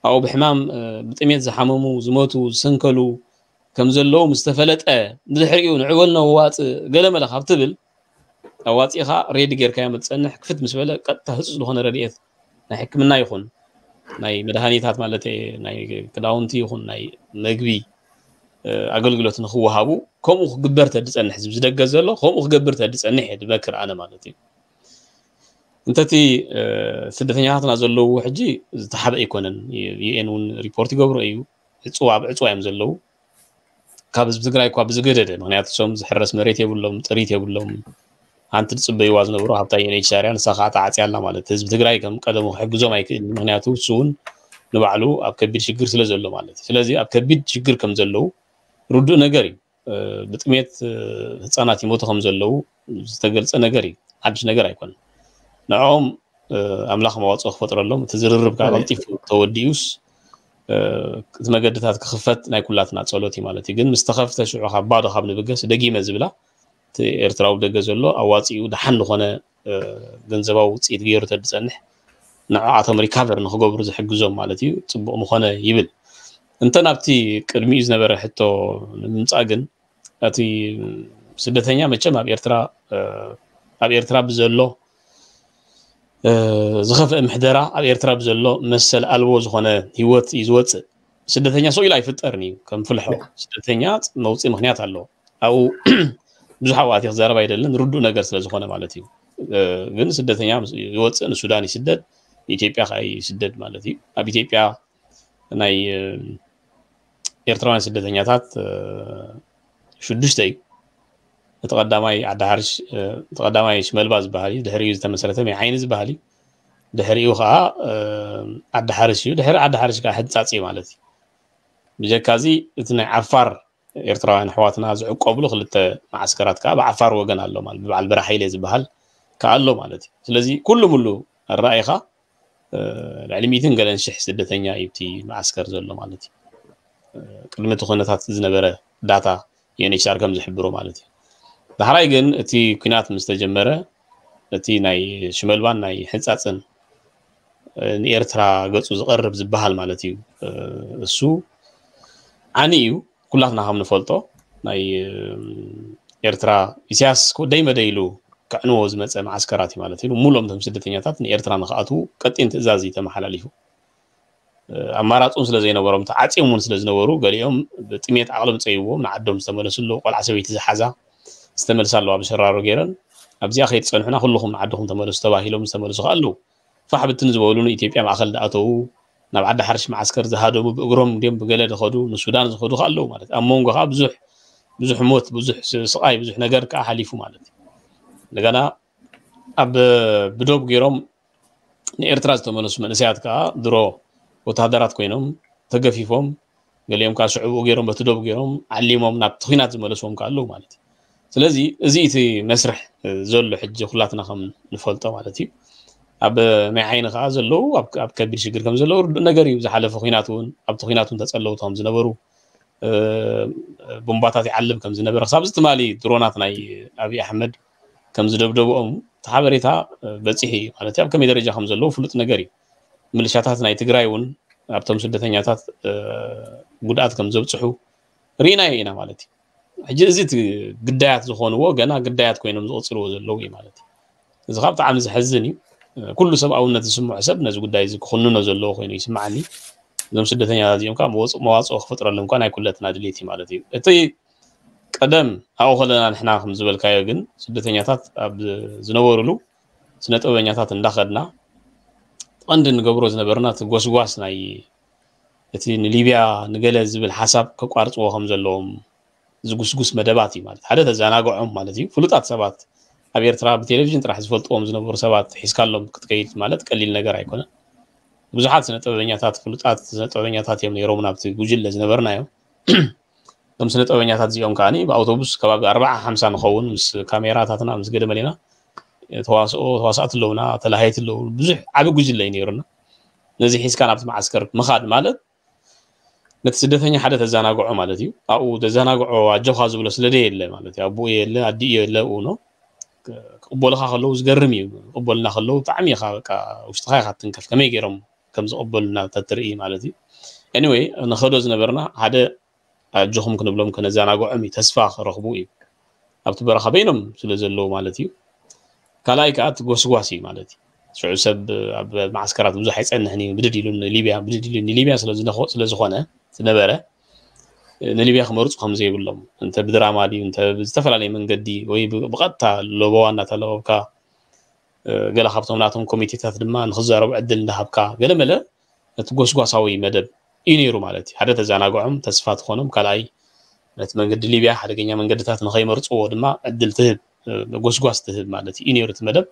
ኣብኡ ብሕማም፣ እ፣ ብጥሜት ዝሓመሙ፣ ዝሞቱ፣ ዝሰንከሉ፣ ከም ዘለዉ ምስ ተፈለጠ፣ ብድሕሪኡ ንዕበል ነዋጽእ ገለመለ ካብ ትብል፣ ኣዋጺእኻ ሬዲ ጌርካዮ ትጸንሕ፣ ክፍት ምስ በለ ቀጥታ ህጹጽ ዝኾነ ረድኤት ናይ ሕክምና ይኹን ናይ መድሃኒታት ማለት ናይ ክዳውንቲ ይኹን ናይ መግቢ ኣገልግሎት ንክወሃቡ ከምኡ ክግበር ተድጸንሕ፣ ዝደገ ዘሎ ከምኡ ክገብር ተድጸንሕ እየ ድመክር ኣነ ማለት እዩ። እንተቲ ስደተኛታትና ዘለዉ ሕጂ ዝተሓበ ኣይኮነን። ዩኤን እውን ሪፖርት ይገብሮ እዩ። ዕፅዋ ኣብ ዕፅዋ እዮም ዘለዉ። ካብ ህዝቢ ትግራይ እኳ ብዝገደደ፣ ምክንያቱ እሶም ዝሕረስ መሬት የብሎም፣ ጥሪት የብሎም። ሓንቲ ዝፅበይዋ ዝነበሩ ሃብታ ዩኤንኤችሲኣር እያ፣ ንሳ ከዓ ተዓፅያ ኣላ ማለት። ህዝቢ ትግራይ ከም ቀደሙ ክሕግዞም ኣይክእልን፣ ምክንያቱ እሱ እውን ንባዕሉ ኣብ ከቢድ ሽግር ስለ ዘሎ ማለት እዩ። ስለዚ ኣብ ከቢድ ሽግር ከም ዘለዉ ርዱእ ነገር እዩ። ብጥሜት ህፃናት ይሞቱ ከም ዘለዉ ዝተገልፀ ነገር እዩ፣ ሓድሽ ነገር ኣይኮነን። ንዕኦም ኣምላኽ መዋፅኦ ክፈጥረሎም፣ እቲ ዝርርብ ከዓ ቀልጢፉ ተወዲኡስ እቲ መገድታት ክኽፈት ናይ ኩላትና ፀሎት እዩ ማለት እዩ። ግን ምስ ተኸፍተ ሽዑ ካብ ባዶ ካብ ንብገስ ደጊመ ዝብላ እቲ ኤርትራዊ ደገ ዘሎ ኣዋፂኡ ደሓን ዝኾነ ገንዘባዊ ውፅኢት ገይሩ ተድፀንሕ ንዕኣቶም ሪካቨር ንክገብሩ ዝሕግዞም ማለት እዩ ፅቡቕ ምኾነ ይብል። እንተ ናብቲ ቅድሚኡ ዝነበረ ሕቶ ንምምፃእ ግን እቲ ስደተኛ መቸም ኣብ ኤርትራ ኣብ ኤርትራ ብዘሎ ዝኸፍአ ምሕደራ ኣብ ኤርትራ ብዘሎ መሰል ኣልቦ ዝኾነ ህይወት እዩ ዝወፅእ። ስደተኛ ሰው ኢሉ ኣይፍጠርን እዩ ከም ፍልሖ። ስደተኛ መውፅኢ ምክንያት ኣለዎ። ኣብኡ ብዙሕ ኣብኡ ኣትየ ክዛረብ ኣይደልን፣ ርዱእ ነገር ስለ ዝኾነ ማለት እዩ። ግን ስደተኛ ይወፅእ፣ ንሱዳን ይስደድ፣ ንኢትዮጵያ ከዓ ይስደድ ማለት እዩ። ኣብ ኢትዮጵያ ናይ ኤርትራውያን ስደተኛታት ሽዱሽተ እዩ። እቲ ቀዳማይ ዓዲ ሓርሽ፣ እቲ ቀዳማይ ሽመልባ ዝበሃል እዩ፣ ድሕሪኡ ዝተመስረተ መይ ዓይኒ ዝበሃል እዩ። ድሕሪኡ ከዓ ዓዲ ሓርሽ እዩ። ድሕሪ ዓዲ ሓርሽ ከዓ ሕንፃፅ እዩ ማለት እዩ። ብጀካ እዚ እቲ ናይ ዓፋር ኤርትራውያን ኣሕዋትና ዝዕቆብሉ ክልተ መዓስከራት ከዓ ብዓፋር ወገን ኣሎ ማለት፣ ብበዓል በራሓይለ ዝበሃል ከዓ ኣሎ ማለት እዩ። ስለዚ ኩሉ ሙሉ ኣረኣይኻ ልዕሊ ሚእትን ገለን ሽሕ ስደተኛ እዩ እቲ መዓስከር ዘሎ ማለት እዩ። ቅድሚ እቲ ኩነታት ዝነበረ ዳታ ዩኤንኤችሲኣር ከም ዝሕብሮ ማለት እዩ። ዳሕራይ ግን እቲ ኩናት ምስ ተጀመረ እቲ ናይ ሽመልባን ናይ ሕንፃፅን ንኤርትራ ገፁ ዝቐርብ ዝበሃል ማለት እዩ። እሱ ዓኒ እዩ። ኩላትና ከም ንፈልጦ ናይ ኤርትራ ኢሳያስ ደይ መደይ ኢሉ ከዕንዎ ዝመፀ መዓስከራት እዩ ማለት እዩ። ሙሎም እቶም ስደተኛታት ንኤርትራ ንክኣትዉ ቀጢን ትእዛዝ እዩ ተመሓላሊፉ። ኣማራፂ እውን ስለ ዘይነበሮም ተዓፅዮም እውን ስለ ዝነበሩ ገሊኦም ብጥሜት ዓቕሎም ፀይዎም ንዓዶም ዝተመለሱ ኣለዉ። ቆልዓ ሰበይቲ ዝሓዛ ዝተመልሳ ኣለዋ ብሸራሮ ገይረን። ኣብዚኣ ከይትፀንሑና ኩልኹም ንዓድኹም ተመለሱ ተባሂሎም ዝተመልሱ ከዓ ኣለዉ። ፋሕ ብትን ዝበሉ ንኢትዮጵያ ማእኸል ዝኣተዉ፣ ናብ ዓዲ ሓርሽ መዓስከር ዝሃደሙ፣ ብእግሮም ድዮም ብገለ ዝኸዱ፣ ንሱዳን ዝኸዱ ከዓ ኣለዉ ማለት እዩ። ኣብ መንጎ ከዓ ብዙሕ ብዙሕ ሞት፣ ብዙሕ ስቃይ፣ ብዙሕ ነገር ከዓ ሓሊፉ ማለት እዩ። እንደገና ኣብ ብዶብ ገይሮም ንኤርትራ ዝተመለሱ መንእሰያት ከዓ ድሮ ወታሃደራት ኮይኖም ተገፊፎም፣ ገሊኦም ከዓ ሽዕብኡ ገይሮም በቲ ዶብ ገይሮም ዓሊሞም ናብቲ ኲናት ዝመለስዎም ከዓ ኣለዉ ማለት እዩ። ስለዚ እዚ እቲ መስርሕ ዘሎ ሕጂ ኩላትና ከም ንፈልጦ ማለት እዩ። ኣብ ማይ ዓይኒ ከዓ ዘለዉ ኣብ ከቢድ ሽግር ከም ዘለዉ ርዱእ ነገር እዩ። ዝሓለፈ ኲናት እውን ኣብቲ ኲናት እውን ተፀለውቲ ከም ዝነበሩ ቡምባታት ይዓልብ ከም ዝነበረ ክሳብ እዚ ትማሊ ድሮናት ናይ ኣብይ ኣሕመድ ከም ዝደብደብኦም እቲ ሓበሬታ በፂሑ እዩ ማለት እዩ። ኣብ ከመይ ደረጃ ከም ዘለዉ ፍሉጥ ነገር እዩ። ምልሻታት ናይ ትግራይ እውን ኣብቶም ስደተኛታት ጉድኣት ከም ዘብፅሑ ርኢናዮ ኢና ማለት እዩ። ሕጂ እዚ እቲ ግዳያት ዝኾንዎ ገና ግዳያት ኮይኖም ዝቕፅልዎ ዘለዉ እዩ ማለት እዩ። እዚ ካብ ብጣዕሚ ዘሕዝን እዩ። ኩሉ ሰብኣውነት ዝስምዖ ሰብ ነዚ ጉዳይ እዚ ክኹንኖ ዘለዎ ኮይኑ ይስምዓኒ። እዞም ስደተኛታት እዚኦም ከዓ መዋፅኦ ክፈጥረሎም እኳ ናይ ኩለትና ድሌት እዩ ማለት እዩ። እቲ ቀደም ኣብኡ ከለና ንሕና ከም ዝበልካዮ ግን ስደተኛታት ኣብ ዝነበሩሉ ስነ ጥበበኛታት እንዳኸድና ቀንዲ ንገብሮ ዝነበርና እቲ ጎስጓስ ናይ እቲ ንሊብያ ንገለ ዝብል ሓሳብ ከቋርፅዎ ከም ዘለዎም ዝጉስጉስ መደባት እዩ ማለት ሓደ ተዘናግዖም ማለት እዩ። ፍሉጣት ሰባት ኣብ ኤርትራ ብቴሌቪዥን ጥራሕ ዝፈልጥዎም ዝነበሩ ሰባት ሒዝካሎም ክትከይድ ማለት ቀሊል ነገር ኣይኮነን። ብዙሓት ስነ ጥበበኛታት ፍሉጣት ስነ ጥበበኛታት እዮም ነይሮም ናብቲ ጉጅለ ዝነበርናዮም። እቶም ስነ ጥበበኛታት እዚኦም ከዓኒ ብኣውቶቡስ ከባቢ ኣርባዓ ሓምሳ ንኸውን ምስ ካሜራታትና ምስ ገደመሌና ተዋስኦ ተዋሳእቲ ኣለውና ተላሃይቲ ኣለዉ ብዙሕ ዓቢ ጉጅለ እዩ ነይሩና። ነዚ ሒዝካ ናብቲ መዓስከር ምኻድ ማለት ነቲ ስደተኛ ሓደ ተዘናግዖ ማለት እዩ። ኣብኡ ተዘናግዖ ኣጆኻ ዝብሎ ስለ ደየለ ማለት እዩ። ኣቦኡ የለ ኣዲኡ የለ ኣብኡ ኖ ክቕበሉኻ ከለዉ ዝገርም እዩ። ክቕበሉና ከለዉ ብጣዕሚ ኢኻ በቃ ውሽጥኻ ኢኻ ትንከፍ ከመይ ገይሮም ከም ዝቕበሉና ተትርኢ ማለት እዩ። ኤኒወይ ንኸዶ ዝነበርና ሓደ ኣጆኹም ክንብሎም ከነዘናግዖም እዩ፣ ተስፋ ክረኽቡ እዩ። ኣብቲ በረኻ በይኖም ስለ ዘለዉ ማለት እዩ። ካልኣይ ከዓ እቲ ጎስጓስ እዩ ማለት እዩ። ሽዑ ሰብ ኣብ ማዓስከራት ብዙሕ ኣይፀንሕን እዩ፣ ብድድ ኢሉ ንሊብያ ብድድ ኢሉ ንሊብያ ስለ ዝኾነ ዝነበረ ንሊብያ ክመርፁ ከም ዘይብሎም፣ እንተ ብድራማ ድዩ እንተ ብዝተፈላለየ መንገዲ ወይ ብቐጥታ ለበዋ እናተለበብካ፣ ገለ ካብቶም ናቶም ኮሚቴታት ድማ ንክዛረቡ ዕድል እንዳሃብካ፣ ገለ መለ እቲ ጎስጓሳዊ መደብ እዩ ነይሩ ማለት እዩ። ሓደ ተዘናግዖም፣ ተስፋ ትኾኖም፣ ካልኣይ ነቲ መንገዲ ሊብያ ሓደገኛ መንገድታት ንኸይመርፅዎ ድማ ዕድል ትህብ፣ ጎስጓስ ትህብ ማለት እዩ ነይሩ እቲ መደብ።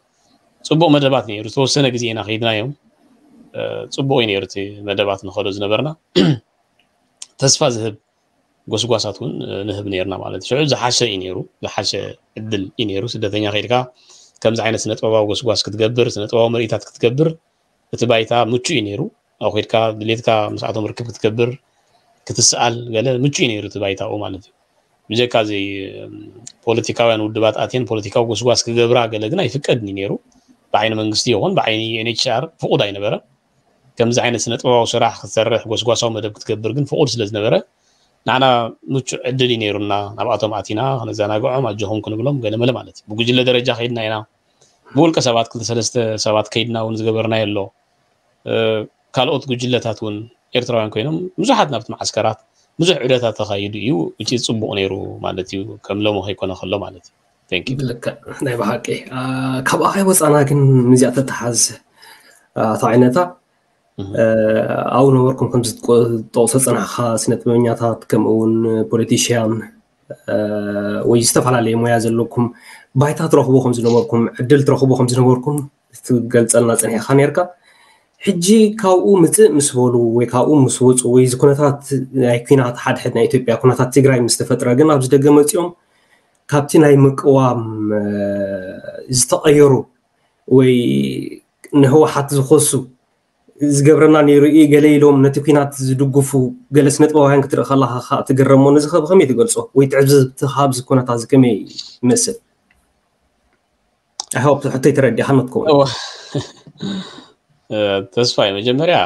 ፅቡቕ መደባት ነይሩ። ዝተወሰነ ግዜ ኢና ከይድናዮም፣ ፅቡቕ እዩ ነይሩ እቲ መደባት ንኸዶ ዝነበርና። ተስፋ ዝህብ ጎስጓሳት እውን ንህብ ነይርና ማለት እዩ። ሽዑ ዝሓሸ እዩ ነይሩ፣ ዝሓሸ ዕድል እዩ ነይሩ። ስደተኛ ከይድካ ከምዚ ዓይነት ስነ ጥበባዊ ጎስጓስ ክትገብር፣ ስነ ጥበባዊ ምርኢታት ክትገብር እቲ ባይታ ምቹ እዩ ነይሩ። ኣብ ከይድካ ድሌትካ ምስኣቶም ርክብ ክትገብር፣ ክትስኣል ገለ ምቹ እዩ ነይሩ እቲ ባይታኡ ማለት እዩ። ብጀካ እዚ ፖለቲካውያን ውድባት ኣትየን ፖለቲካዊ ጎስጓስ ክገብራ ገለ ግን ኣይፍቀድን እዩ ነይሩ። ብዓይኒ መንግስቲ ይኹን ብዓይኒ ዩኤንኤችሲኣር ፍቑድ ኣይነበረን። ከምዚ ዓይነት ስነ ጥበባዊ ስራሕ ክትሰርሕ ጎስጓሳዊ መደብ ክትገብር ግን ፍቑድ ስለ ዝነበረ ንዓና ምቹእ ዕድል እዩ ነይሩና። ናብኣቶም ኣቲና ከነዘናግዖም ኣጆኹም ክንብሎም ገለመለ ማለት እዩ። ብጉጅለ ደረጃ ከይድና ኢና። ብውልቀ ሰባት ክልተ ሰለስተ ሰባት ከይድና እውን ዝገበርናዮ ኣሎ። ካልኦት ጉጅለታት እውን ኤርትራውያን ኮይኖም ብዙሓት ናብቲ ማዓስከራት ብዙሕ ዑደታት ተኻይዱ እዩ። እቲ ጽቡቕ ነይሩ ማለት እዩ፣ ከም ሎሚ ከይኮነ ከሎ ማለት እዩ። Thank you። ልክዕ ናይ ብሓቂ። ካብ ኣኻይ ወፃና ግን ምስዚኣ ተተሓዝ ኣቶ ዓይነታ ኣብኡ ነበርኩም ከም ዝጠቕሶ ፅናሕኻ ስነ ጥበበኛታት ከምኡ እውን ፖለቲሽያን ወይ ዝተፈላለየ ሞያ ዘለኩም ባይታ ትረኽቡ ከም ዝነበርኩም ዕድል ትረኽቡ ከም ዝነበርኩም ትገልፀልና ፅኒሕኻ ነርካ። ሕጂ ካብኡ ምፅእ ምስ በሉ ወይ ካብኡ ምስ ወፁ ወይ እዚ ኩነታት ናይ ኩናት ሓድሕድ ናይ ኢትዮጵያ ኩነታት ትግራይ ምስ ተፈጥረ ግን ኣብዚ ደገ መፂኦም ካብቲ ናይ ምቅዋም ዝተቐየሩ ወይ ንህወሓት ዝኸሱ ዝገብረና ነይሩ እዩ ገለ ኢሎም ነቲ ኩናት ዝድግፉ ገለ ስነጥበባውያን ክትርኢ ከለኻ ከዓ ትግረሞ። ነዚ ከ ብኸመይ ትገልፆ ወይ ትዕዝብትኻ ኣብዚ ኩነታት እዚ ከመይ ይመስል? ኣሕዋብ ሕቶይ ተረዲኻ ንትከውን ተስፋይ መጀመርያ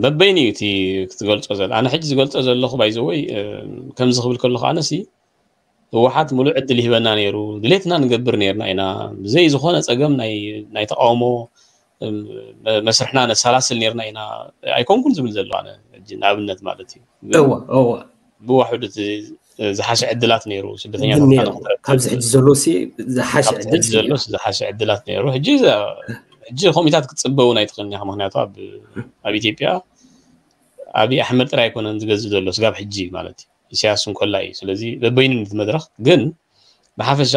በበይኑ እዩ እቲ ክትገልፆ ዘለ ኣነ ሕጂ ዝገልፆ ዘለኹ ባይዘወይ ከምዚ ክብል ከለኹ ኣነሲ ህወሓት ሙሉእ ዕድል ይህበና ነይሩ። ድሌትና ንገብር ነይርና ኢና። ብዘይ ዝኾነ ፀገም ናይ ናይ ተቃውሞ መስርሕና ነሰላስል ነይርና ኢና ኣይኮንኩን ዝብል ዘሎ ኣነ ሕጂ ንኣብነት ማለት እዩ። እወ እወ ብዋሕዱ እቲ ዝሓሸ ዕድላት ነይሩ ስደተኛታት ካብዚ ሕጂ ዘሎ ዝሓሸ ዕድል ዘሎ ዝሓሸ ዕድላት ነይሩ። ሕጂ ሕጂ ኮሚታት ክትፅበ እውን ኣይትኽእልን ኢኻ። ምክንያቱ ኣብ ኢትዮጵያ ኣብይ ኣሕመድ ጥራይ ኣይኮነን ዝገዝእ ዘሎ ስጋብ ሕጂ ማለት እዩ። ኢሳያስ እንኮላ እዩ። ስለዚ በበይኑ እቲ መድረኽ ግን ብሓፈሻ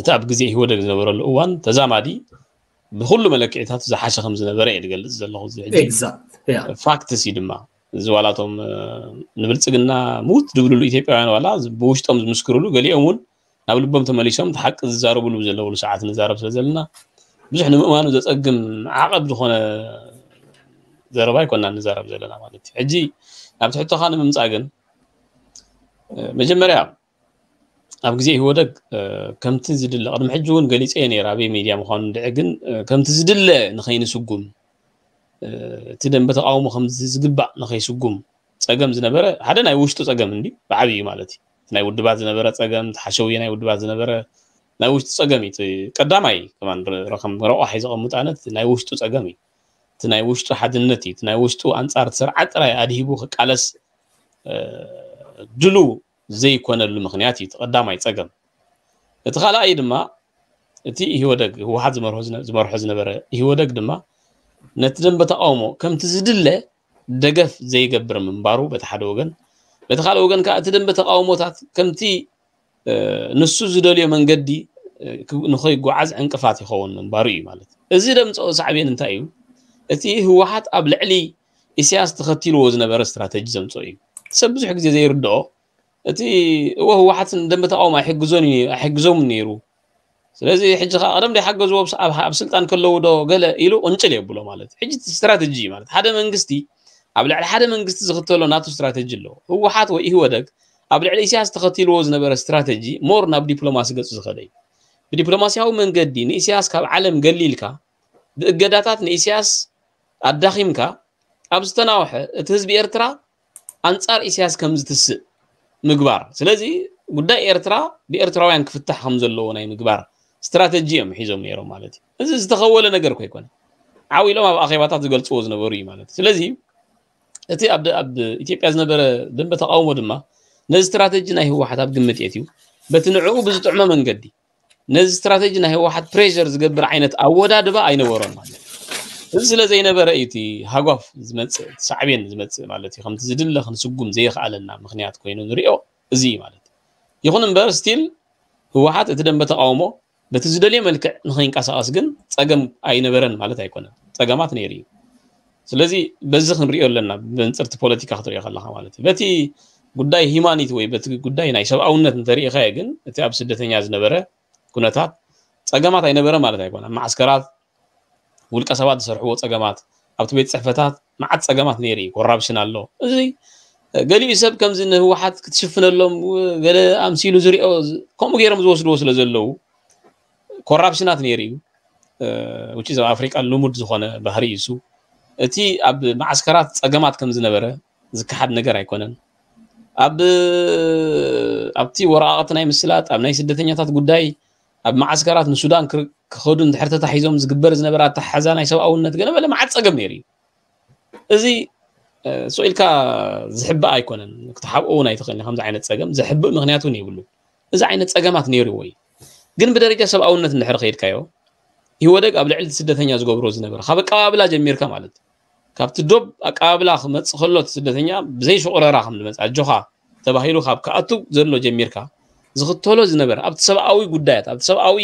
እቲ ኣብ ግዜ ኢህወደግ ዝነበረሉ እዋን ተዛማዲ ብኩሉ መለክዒታት ዝሓሸ ከም ዝነበረ እየ ዝገልፅ ዘለኹ። እዚ ሕጂ ፋክትስ እዩ ድማ እዚ ዋላቶም ንብልፅግና ምውት ዝብልሉ ኢትዮጵያውያን ዋላ ብውሽጦም ዝምስክርሉ ገሊኦም እውን ናብ ልቦም ተመሊሶም እቲ ሓቂ ዝዛረብሉ ዘለውሉ ሰዓት ንዛረብ ስለ ዘለና ብዙሕ ንምእማኑ ዘፀግም ዓቐብ ዝኾነ ዘረባ ኣይኮና ንዛረብ ዘለና ማለት እዩ። ሕጂ ናብቲ ሕቶኻ ንምምፃእ ግን መጀመርያ ኣብ ግዜ ኢህወደግ ከምቲ ዝድለ ቅድሚ ሕጂ እውን ገሊፀ ነይረ ኣበይ ሚድያ ምኳኑ እንድዒ ግን ከምቲ ዝድለ ንኸይንስጉም እቲ ደንበ ተቃውሞ ከምዚ ዝግባእ ንኸይስጉም ፀገም ዝነበረ ሓደ ናይ ውሽጡ ፀገም እንዲ ብዓብዩ ማለት እዩ። ናይ ውድባት ዝነበረ ፀገም ተሓሸውየ ናይ ውድባት ዝነበረ ናይ ውሽጡ ፀገም እዩ። ቀዳማይ ከማን ረኸም ረቋሕ ዘቐምጥ ኣነት ናይ ውሽጡ ፀገም እዩ። እቲ ናይ ውሽጡ ሓድነት እዩ። እቲ ናይ ውሽጡ ኣንፃር ስርዓት ጥራይ ኣድሂቡ ክቃለስ ድሉ ዘይኮነሉ ምክንያት እዩ። ቀዳማይ ፀገም። እቲ ካልኣይ ድማ እቲ ኢህወደግ ህወሓት ዝመርሖ ዝመርሖ ዝነበረ ኢህወደግ ድማ ነቲ ደንበ ተቃውሞ ከምቲ ዝድለ ደገፍ ዘይገብር ምንባሩ በቲ ሓደ ወገን፣ በቲ ካልእ ወገን ከዓ እቲ ደንበ ተቃውሞታት ከምቲ ንሱ ዝደልዮ መንገዲ ንኸይጓዓዝ ዕንቅፋት ይኸውን ምንባሩ እዩ ማለት። እዚ ደምፀኦ ሳዕቤን እንታይ እዩ? እቲ ህወሓት ኣብ ልዕሊ ኢሳያስ ተኸቲልዎ ዝነበረ ስትራተጂ ዘምፀኦ እዩ። ሰብ ብዙሕ ግዜ ዘይርድኦ እቲ እወ ህወሓትን ደንበ ተቃውሞ ኣይሕግዞን እዩ ኣይሕግዞም ነይሩ። ስለዚ ሕጂ ከዓ ቀደም ዘይሓገዝዎ ኣብ ስልጣን ከለዉ ዶ ገለ ኢሉ ቅንጭል የብሎ ማለት ሕጂ ስትራተጂ ማለት ሓደ መንግስቲ ኣብ ልዕሊ ሓደ መንግስቲ ዝኽተሎ ናቱ ስትራተጂ ኣለዎ። ህወሓት ወይ ኢህወደግ ኣብ ልዕሊ ኢሳያስ ተኸቲልዎ ዝነበረ ስትራተጂ ሞር ናብ ዲፕሎማሲ ገፁ ዝኸደ እዩ። ብዲፕሎማሲያዊ መንገዲ ንኢሳያስ ካብ ዓለም ገሊልካ ብእገዳታት ንኢሳያስ ኣዳኺምካ ኣብ ዝተናውሐ እቲ ህዝቢ ኤርትራ ኣንጻር ኢሳያስ ከም ዝትስእ ምግባር። ስለዚ ጉዳይ ኤርትራ ብኤርትራውያን ክፍታሕ ከም ዘለዎ ናይ ምግባር ስትራተጂ እዮም ሒዞም ነይሮም ማለት እዩ። እዚ ዝተኸወለ ነገር እኮ ኣይኮነ። ዓው ኢሎም ኣብ ኣኼባታት ዝገልጽዎ ዝነበሩ እዩ ማለት እዩ። ስለዚ እቲ ኣብ ደ- ኣብ ኢትዮጵያ ዝነበረ ደንበ ተቃውሞ ድማ ነዚ ስትራተጂ ናይ ህወሓት ኣብ ግምት የትዩ በቲ ንዕኡ ብዝጥዕሞ መንገዲ ነዚ ስትራተጂ ናይ ህወሓት ፕሬሸር ዝገብር ዓይነት ኣወዳድባ ኣይነበሮን ማለት እዩ። እዚ ስለ ዘይነበረ እዩ እቲ ሃጓፍ ዝመፅእ፣ እቲ ሳዕቤን ዝመፅእ ማለት እዩ። ከምቲ ዝድለ ክንስጉም ዘይኽኣለና ምክንያት ኮይኑ ንሪኦ እዚ እዩ ማለት እዩ። ይኹን እምበር ስቲል ህወሓት እቲ ደንበ ተቃውሞ በቲ ዝደልዮ መልክዕ ንኸይንቀሳቐስ ግን ፀገም ኣይነበረን ማለት ኣይኮነን። ፀገማት ነይሩ እዩ። ስለዚ በዚ ክንሪኦ ኣለና፣ ብመንፅርቲ ፖለቲካ ክትሪኦ ከለካ ማለት እዩ። በቲ ጉዳይ ሂማኒቲ ወይ በቲ ጉዳይ ናይ ሰብኣውነት እንተሪኢኻዮ ግን እቲ ኣብ ስደተኛ ዝነበረ ኩነታት ፀገማት ኣይነበረ ማለት ኣይኮነን። ኣብ ማዓስከራት ውልቀ ሰባት ዝሰርሕዎ ፀገማት፣ ኣብቲ ቤት ፅሕፈታት መዓት ፀገማት ነይሩ እዩ። ኮራፕሽን ኣሎ። እዚ ገሊኡ ሰብ ከምዚ ንህወሓት ክትሽፍነሎም ገለ ኣምሲሉ ዝሪኦ ከምኡ ገይሮም ዝወስድዎ ስለ ዘለዉ ኮራፕሽናት ነይሩ እዩ። ውጭ ኣብ ኣፍሪቃ ልሙድ ዝኾነ ባህሪ እዩ እሱ። እቲ ኣብ ማዓስከራት ፀገማት ከም ዝነበረ ዝከሓድ ነገር ኣይኮነን። ኣብ ኣብቲ ወረቃቅቲ ናይ ምስላጥ ኣብ ናይ ስደተኛታት ጉዳይ ኣብ ማዓስከራት ንሱዳን ክር- ክኸዱ እንድሕር ተታሒዞም ዝግበር ዝነበረ ኣተሓሕዛ ናይ ሰብኣውነት ገለ መለ መዓት ፀገም ነይሩ እዩ። እዚ ሶ ኢልካ ዝሕባእ ኣይኮነን። ክትሓብኦ እውን ኣይትኽእልን ከምዚ ዓይነት ፀገም ዘሕብእ ምክንያት እውን የብሉ። እዚ ዓይነት ፀገማት ነይርዎ እዩ። ግን ብደረጃ ሰብኣውነት እንድሕር ከይድካዮ ኢህወደግ ኣብ ልዕሊ ስደተኛ ዝገብሮ ዝነበረ ካብ ኣቀባብላ ጀሚርካ ማለት ካብቲ ዶብ ኣቀባብላ ክመፅእ ከሎ እቲ ስደተኛ ብዘይ ሽቑረራ ከም ዝመፅእ ኣጆኻ ተባሂሉ ካብ ክኣቱ ዘሎ ጀሚርካ ዝኽተሎ ዝነበረ ኣብቲ ሰብኣዊ ጉዳያት ኣብቲ ሰብኣዊ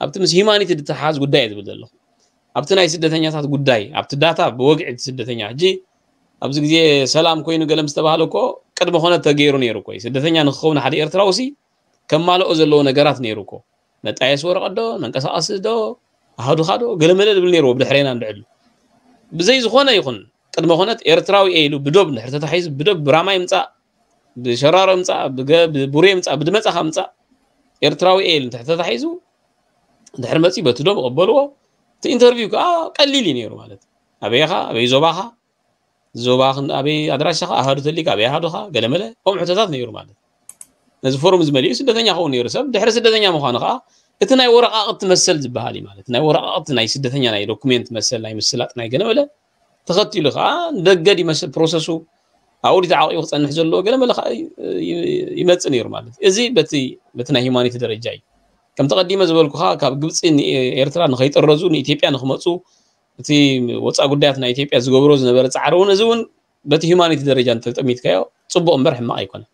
ኣብቲ ምስ ሂማኒቲ ዝተሓዝ ጉዳይ ዝብል ዘለኹ ኣብቲ ናይ ስደተኛታት ጉዳይ ኣብቲ ዳታ ብወግዒ እቲ ስደተኛ ሕጂ ኣብዚ ግዜ ሰላም ኮይኑ ገለ ምስ ተባሃለ እኮ ቅድመ ኮነ ተገይሩ ነይሩ እኮ ስደተኛ ንክኸውን ሓደ ኤርትራዊ ሲ ከማልኦ ዘለዎ ነገራት ነይሩ እኮ መጣየስ ወረቐት ዶ መንቀሳቐሲ ዶ ኣሃዱኻ ዶ ገለመለ ዝብል ነይርዎ ብድሕሬና እንድዕሉ ብዘይ ዝኾነ ይኹን ቅድመ ኮነት ኤርትራዊ እየ ኢሉ ብዶብ እንድሕር ተታሒዙ ብዶብ ብራማ ይምፃእ ብሸራሮ ይምፃእ ብቡሬ ይምፃእ ብድመፃኻ ምፃእ ኤርትራዊ እየ ኢሉ እንድሕር ተታሒዙ እንድሕር መፂኡ በቲ ዶብ ይቐበልዎ እቲ ኢንተርቪው ከዓ ቀሊል እዩ ነይሩ ማለት ኣበይኻ ኣበይ ዞባኻ ዞባ ኣበይ ኣድራሻኻ ኣሃዱ ተሊካ ኣበይ ኣሃዱኻ ገለመለ ከምኡ ሕቶታት ነይሩ ማለት ነዚ ፎርም ዝመሊኡ ስደተኛ ክኸውን ነይሩ ሰብ ድሕሪ ስደተኛ ምዃኑ ከዓ እቲ ናይ ወረቃቅቲ መሰል ዝበሃል እዩ ማለት ናይ ወረቃቅቲ ናይ ስደተኛ ናይ ዶኩሜንት መሰል ናይ ምስላጥ ናይ ገለመለ ተኸቲሉ ከዓ ንደገ ዲመስ ፕሮሰሱ ኣብኡ ተዓቂቡ ክፀንሕ ዘለዎ ገለመለ ከዓ ይመፅእ ነይሩ ማለት እዚ በቲ ናይ ሂማኒቲ ደረጃ እዩ ከም ተቐዲመ ዝበልኩኻ ካብ ግብፂ ኤርትራ ንኸይጥረዙ ንኢትዮጵያ ንክመፁ እቲ ወፃኢ ጉዳያት ናይ ኢትዮጵያ ዝገብሮ ዝነበረ ፃዕሪ እውን እዚ እውን በቲ ሂማኒቲ ደረጃ እንተጠሚትካዮ ፅቡቕ እምበር ሕማቕ ኣይኮነን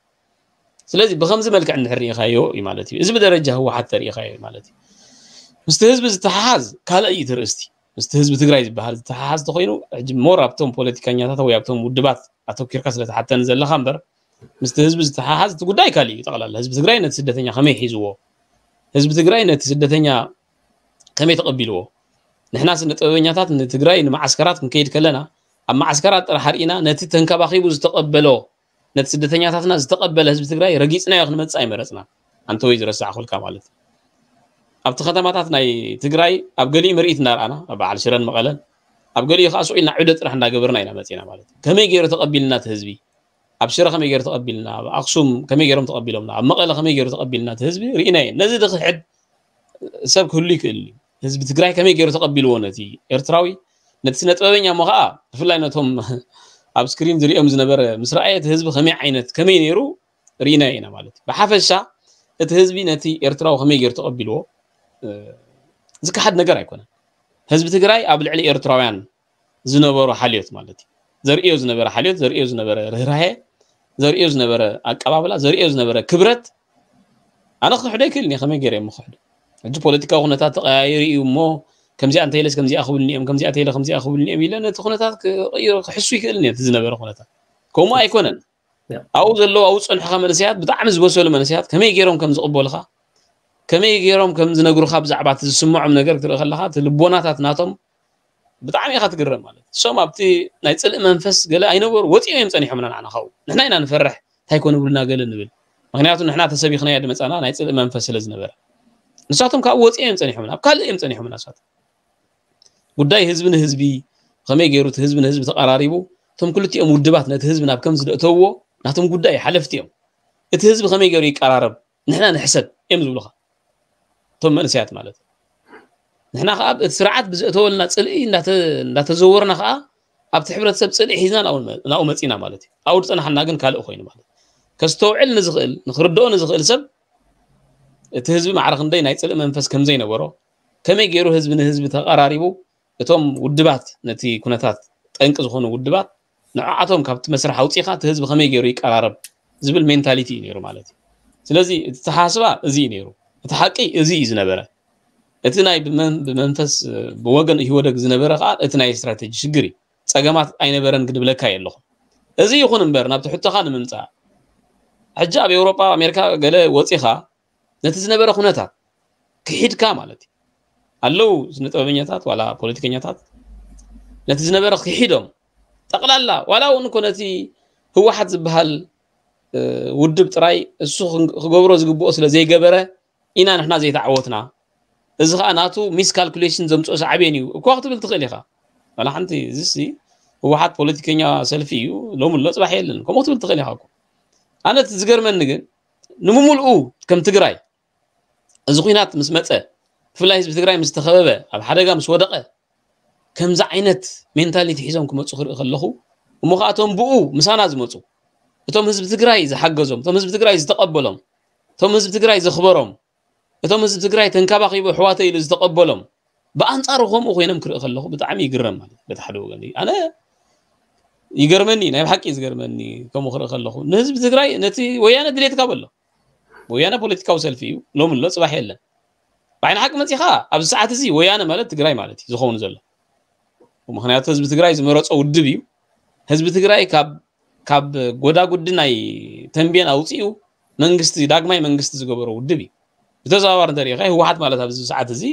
ስለዚ ብከምዚ መልክዕ እንድሕር ርኢኻዮ እዩ ማለት እዩ እዚ ብደረጃ ህወሓት ተርኢኻዮ እዩ ማለት እዩ ምስቲ ህዝቢ ዝተሓሓዝ ካልእ እዩ ትርእስቲ ምስቲ ህዝቢ ትግራይ ዝበሃል ዝተሓሓዝ ተኮይኑ ሕጂ ሞር ኣብቶም ፖለቲከኛታት ወይ ኣብቶም ውድባት ኣተኪርካ ስለተሓተኒ ዘለካ እምበር ምስቲ ህዝቢ ዝተሓሓዝ እቲ ጉዳይ ካልእ እዩ ጠቕላላ ህዝቢ ትግራይ ነቲ ስደተኛ ከመይ ሒዝዎ ህዝቢ ትግራይ ነቲ ስደተኛ ከመይ ተቐቢልዎ ንሕና ስነ ጥበበኛታት ንትግራይ ንማዓስከራት ክንከይድ ከለና ኣብ ማዓስከራት ጥራሕ ርኢና ነቲ ተንከባኺቡ ዝተቐበሎ ነቲ ስደተኛታትና ዝተቐበለ ህዝቢ ትግራይ ረጊፅናዮ ክንመፅእ ኣይመረፅና ኣንተ ወይ ዝረሳዕኩልካ ማለት ኣብቲ ከተማታት ናይ ትግራይ ኣብ ገሊኡ ምርኢት እናርኣና ኣብ በዓል ሽረን መቐለን ኣብ ገሊኡ ከዓ ስቕ ኢልና ዕደ ጥራሕ እንዳገበርና ኢና መፂና ማለት ከመይ ገይሩ ተቐቢልና እቲ ህዝቢ ኣብ ሽረ ከመይ ገይሩ ተቐቢልና ኣብ ኣክሱም ከመይ ገይሮም ተቐቢሎምና ኣብ መቐለ ከመይ ገይሩ ተቐቢልና እቲ ህዝቢ ርኢናዮ ነዚ ድክሕድ ሰብ ክህሉ ይክእል እዩ ህዝቢ ትግራይ ከመይ ገይሩ ተቐቢልዎ ነቲ ኤርትራዊ ነቲ ስነ ጥበበኛ እሞ ከዓ ብፍላይ ነቶም ኣብ ስክሪን ዝሪኦም ዝነበረ ምስ ረኣየ እቲ ህዝቢ ከመይ ዓይነት ከመይ ነይሩ ርኢናዮ ኢና ማለት እዩ ብሓፈሻ እቲ ህዝቢ ነቲ ኤርትራዊ ከመይ ገይሩ ተቐቢልዎ ዝከሓድ ነገር ኣይኮነን ህዝቢ ትግራይ ኣብ ልዕሊ ኤርትራውያን ዝነበሮ ሓልዮት ማለት እዩ ዘርእዮ ዝነበረ ሓልዮት ዘርእዮ ዝነበረ ርህራሄ ዘርእዮ ዝነበረ ኣቀባብላ ዘርእዮ ዝነበረ ክብረት ኣነ ክሕዶ ይክእል እየ ከመይ ገይረ እሞ ክሕዶ ሕጂ ፖለቲካዊ ኩነታት ተቀያይሩ እዩ እሞ ከምዚኣ እንተኢለስ ከምዚኣ ክብልኒ እዮም ከምዚኣ ተኢለ ከምዚኣ ክብልኒ እዮም ኢለ ነቲ ኩነታት ክቅይሮ ክሕሱ ይክእል እየ ዝነበረ ኩነታት ከምኡ ኣይኮነን ኣብኡ ዘለዉ ኣብኡ ዝፀንሑካ መንእሰያት ብጣዕሚ ዝበሰሉ መንእሰያት ከመይ ገይሮም ከም ዝቕበሉካ ከመይ ገይሮም ከም ዝነግሩካ ብዛዕባ እቲ ዝስምዖም ነገር ክትርኢ ከለካ እቲ ልቦናታት ናቶም ብጣዕሚ ኢኻ ትግረም ማለት እሶም ኣብቲ ናይ ፅልእ መንፈስ ገለ ኣይነበሩ ወፂኦም እዮም ፀኒሖምና ንዓና ካብኡ ንሕና ኢና ንፈርሕ እንታይ ኮን ብሉና ገለ ንብል ምክንያቱ ንሕና ተሰቢኽናዮ ድመፃና ናይ ፅልእ መንፈስ ስለ ዝነበረ ንሳቶም ካብኡ ወፂኦም እዮም ፀኒሖምና ኣብ ካልእ እዮም ፀኒሖምና ንሳቶም ጉዳይ ህዝቢ ንህዝቢ ከመይ ገይሩ እቲ ህዝቢ ንህዝቢ ተቀራሪቡ እቶም ክልቲኦም ውድባት ነቲ ህዝቢ ናብ ከምዚ ዘእተውዎ ናቶም ጉዳይ ሓለፍቲ እዮም። እቲ ህዝቢ ከመይ ገይሩ ይቀራረብ፣ ንሕና ንሕሰብ እዮም ዝብሉኻ። እቶም መንእሰያት ማለት ንሕና ከዓ እቲ ስርዓት ብዘእተወልና ፅልኢ እንዳተ- እንዳተዘወርና ከዓ ኣብቲ ሕብረተሰብ ፅልኢ ሒዝና ናብኡ መ- ናብኡ መፂና ማለት እዩ። ኣብኡ ዝፀናሕና ግን ካልእ ኮይኑ ማለት እዩ። ከስተውዕል ንዝኽእል ንክርድኦ ንዝኽእል ሰብ እቲ ህዝቢ ማዕረ ክንደይ ናይ ፅልኢ መንፈስ ከምዘይነበሮ ከመይ ገይሩ ህዝቢ ንህዝቢ ተቐራሪቡ እቶም ውድባት ነቲ ኩነታት ጠንቂ ዝኾኑ ውድባት ንዓቶም ካብቲ መስርሕ ኣውፂኻ እቲ ህዝቢ ከመይ ገይሩ ይቀራረብ ዝብል ሜንታሊቲ እዩ ነይሩ ማለት እዩ። ስለዚ እቲ ተሓስባ እዚ እዩ ነይሩ። እቲ ሓቂ እዚ እዩ ዝነበረ። እቲ ናይ ብመን- ብመንፈስ ብወገን ኢህወደግ ዝነበረ ከዓ እቲ ናይ ስትራቴጂ ሽግር እዩ። ፀገማት ኣይነበረን ግድብለካ የለኹም። እዚ ይኹን እምበር ናብቲ ሕቶኻ ንምምፃእ ሕጂ ኣብ ኤውሮጳ ኣሜሪካ ገለ ወፂኻ ነቲ ዝነበረ ኩነታት ክሒድካ ማለት እዩ። ኣለዉ ስነ ጥበበኛታት ዋላ ፖለቲከኛታት ነቲ ዝነበረ ክሒዶም ጠቕላላ ዋላ እውን እኮ ነቲ ህወሓት ዝበሃል ውድብ ጥራይ እሱ ክገብሮ ዝግብኦ ስለ ዘይገበረ ኢና ንሕና ዘይተዓወትና። እዚ ከዓ ናቱ ሚስ ካልኩሌሽን ዘምፅኦ ሳዕቤን እዩ እኳ ክትብል ትኽእል ኢኻ። ዋላ ሓንቲ እዚሲ ህወሓት ፖለቲከኛ ሰልፊ እዩ ሎም ኣሎ ፅባሕ የለን ከምኡ ክትብል ትኽእል ኢኻ። ኣነ ዝገርመኒ ግን ንምሙልኡ ከም ትግራይ እዚ ኩናት ምስ መፀ ብፍላይ ህዝቢ ትግራይ ምስ ተኸበበ ኣብ ሓደጋ ምስ ወደቐ ከምዚ ዓይነት ሜንታሊቲ ሒዞም ክመፁ ክርኢ ከለኹ እሞ ከዓ እቶም ብኡ ምሳና ዝመፁ እቶም ህዝቢ ትግራይ ዝሓገዞም እቶም ህዝቢ ትግራይ ዝተቐበሎም እቶም ህዝቢ ትግራይ ዘኽበሮም እቶም ህዝቢ ትግራይ ተንከባኺቡ ኣሕዋተይ ኢሉ ዝተቐበሎም ብኣንፃሩ ከምኡ ኮይኖም ክርኢ ከለኹ ብጣዕሚ ይግረም ማለት በቲ ሓደ ወገን ኣነ ይገርመኒ ናይ ብሓቂ ዝገርመኒ ከምኡ ክርኢ ከለኹ ንህዝቢ ትግራይ ነቲ ወያነ ድሌትካ በሎ ወያነ ፖለቲካዊ ሰልፊ እዩ ሎም ኣሎ ፅባሕ የለን ብዓይኒ ሓቂ መፂኻ ኣብዚ ሰዓት እዚ ወያነ ማለት ትግራይ ማለት እዩ ዝኸውን ዘሎ ምክንያቱ ህዝቢ ትግራይ ዝመረፆ ውድብ እዩ ህዝቢ ትግራይ ካብ ካብ ጎዳጉዲ ናይ ተንቤን ኣውፅኡ መንግስቲ ዳግማይ መንግስቲ ዝገበሮ ውድብ እዩ ብተዘዋዋሪ እንተሪኢኻ ህወሓት ማለት ኣብዚ ሰዓት እዚ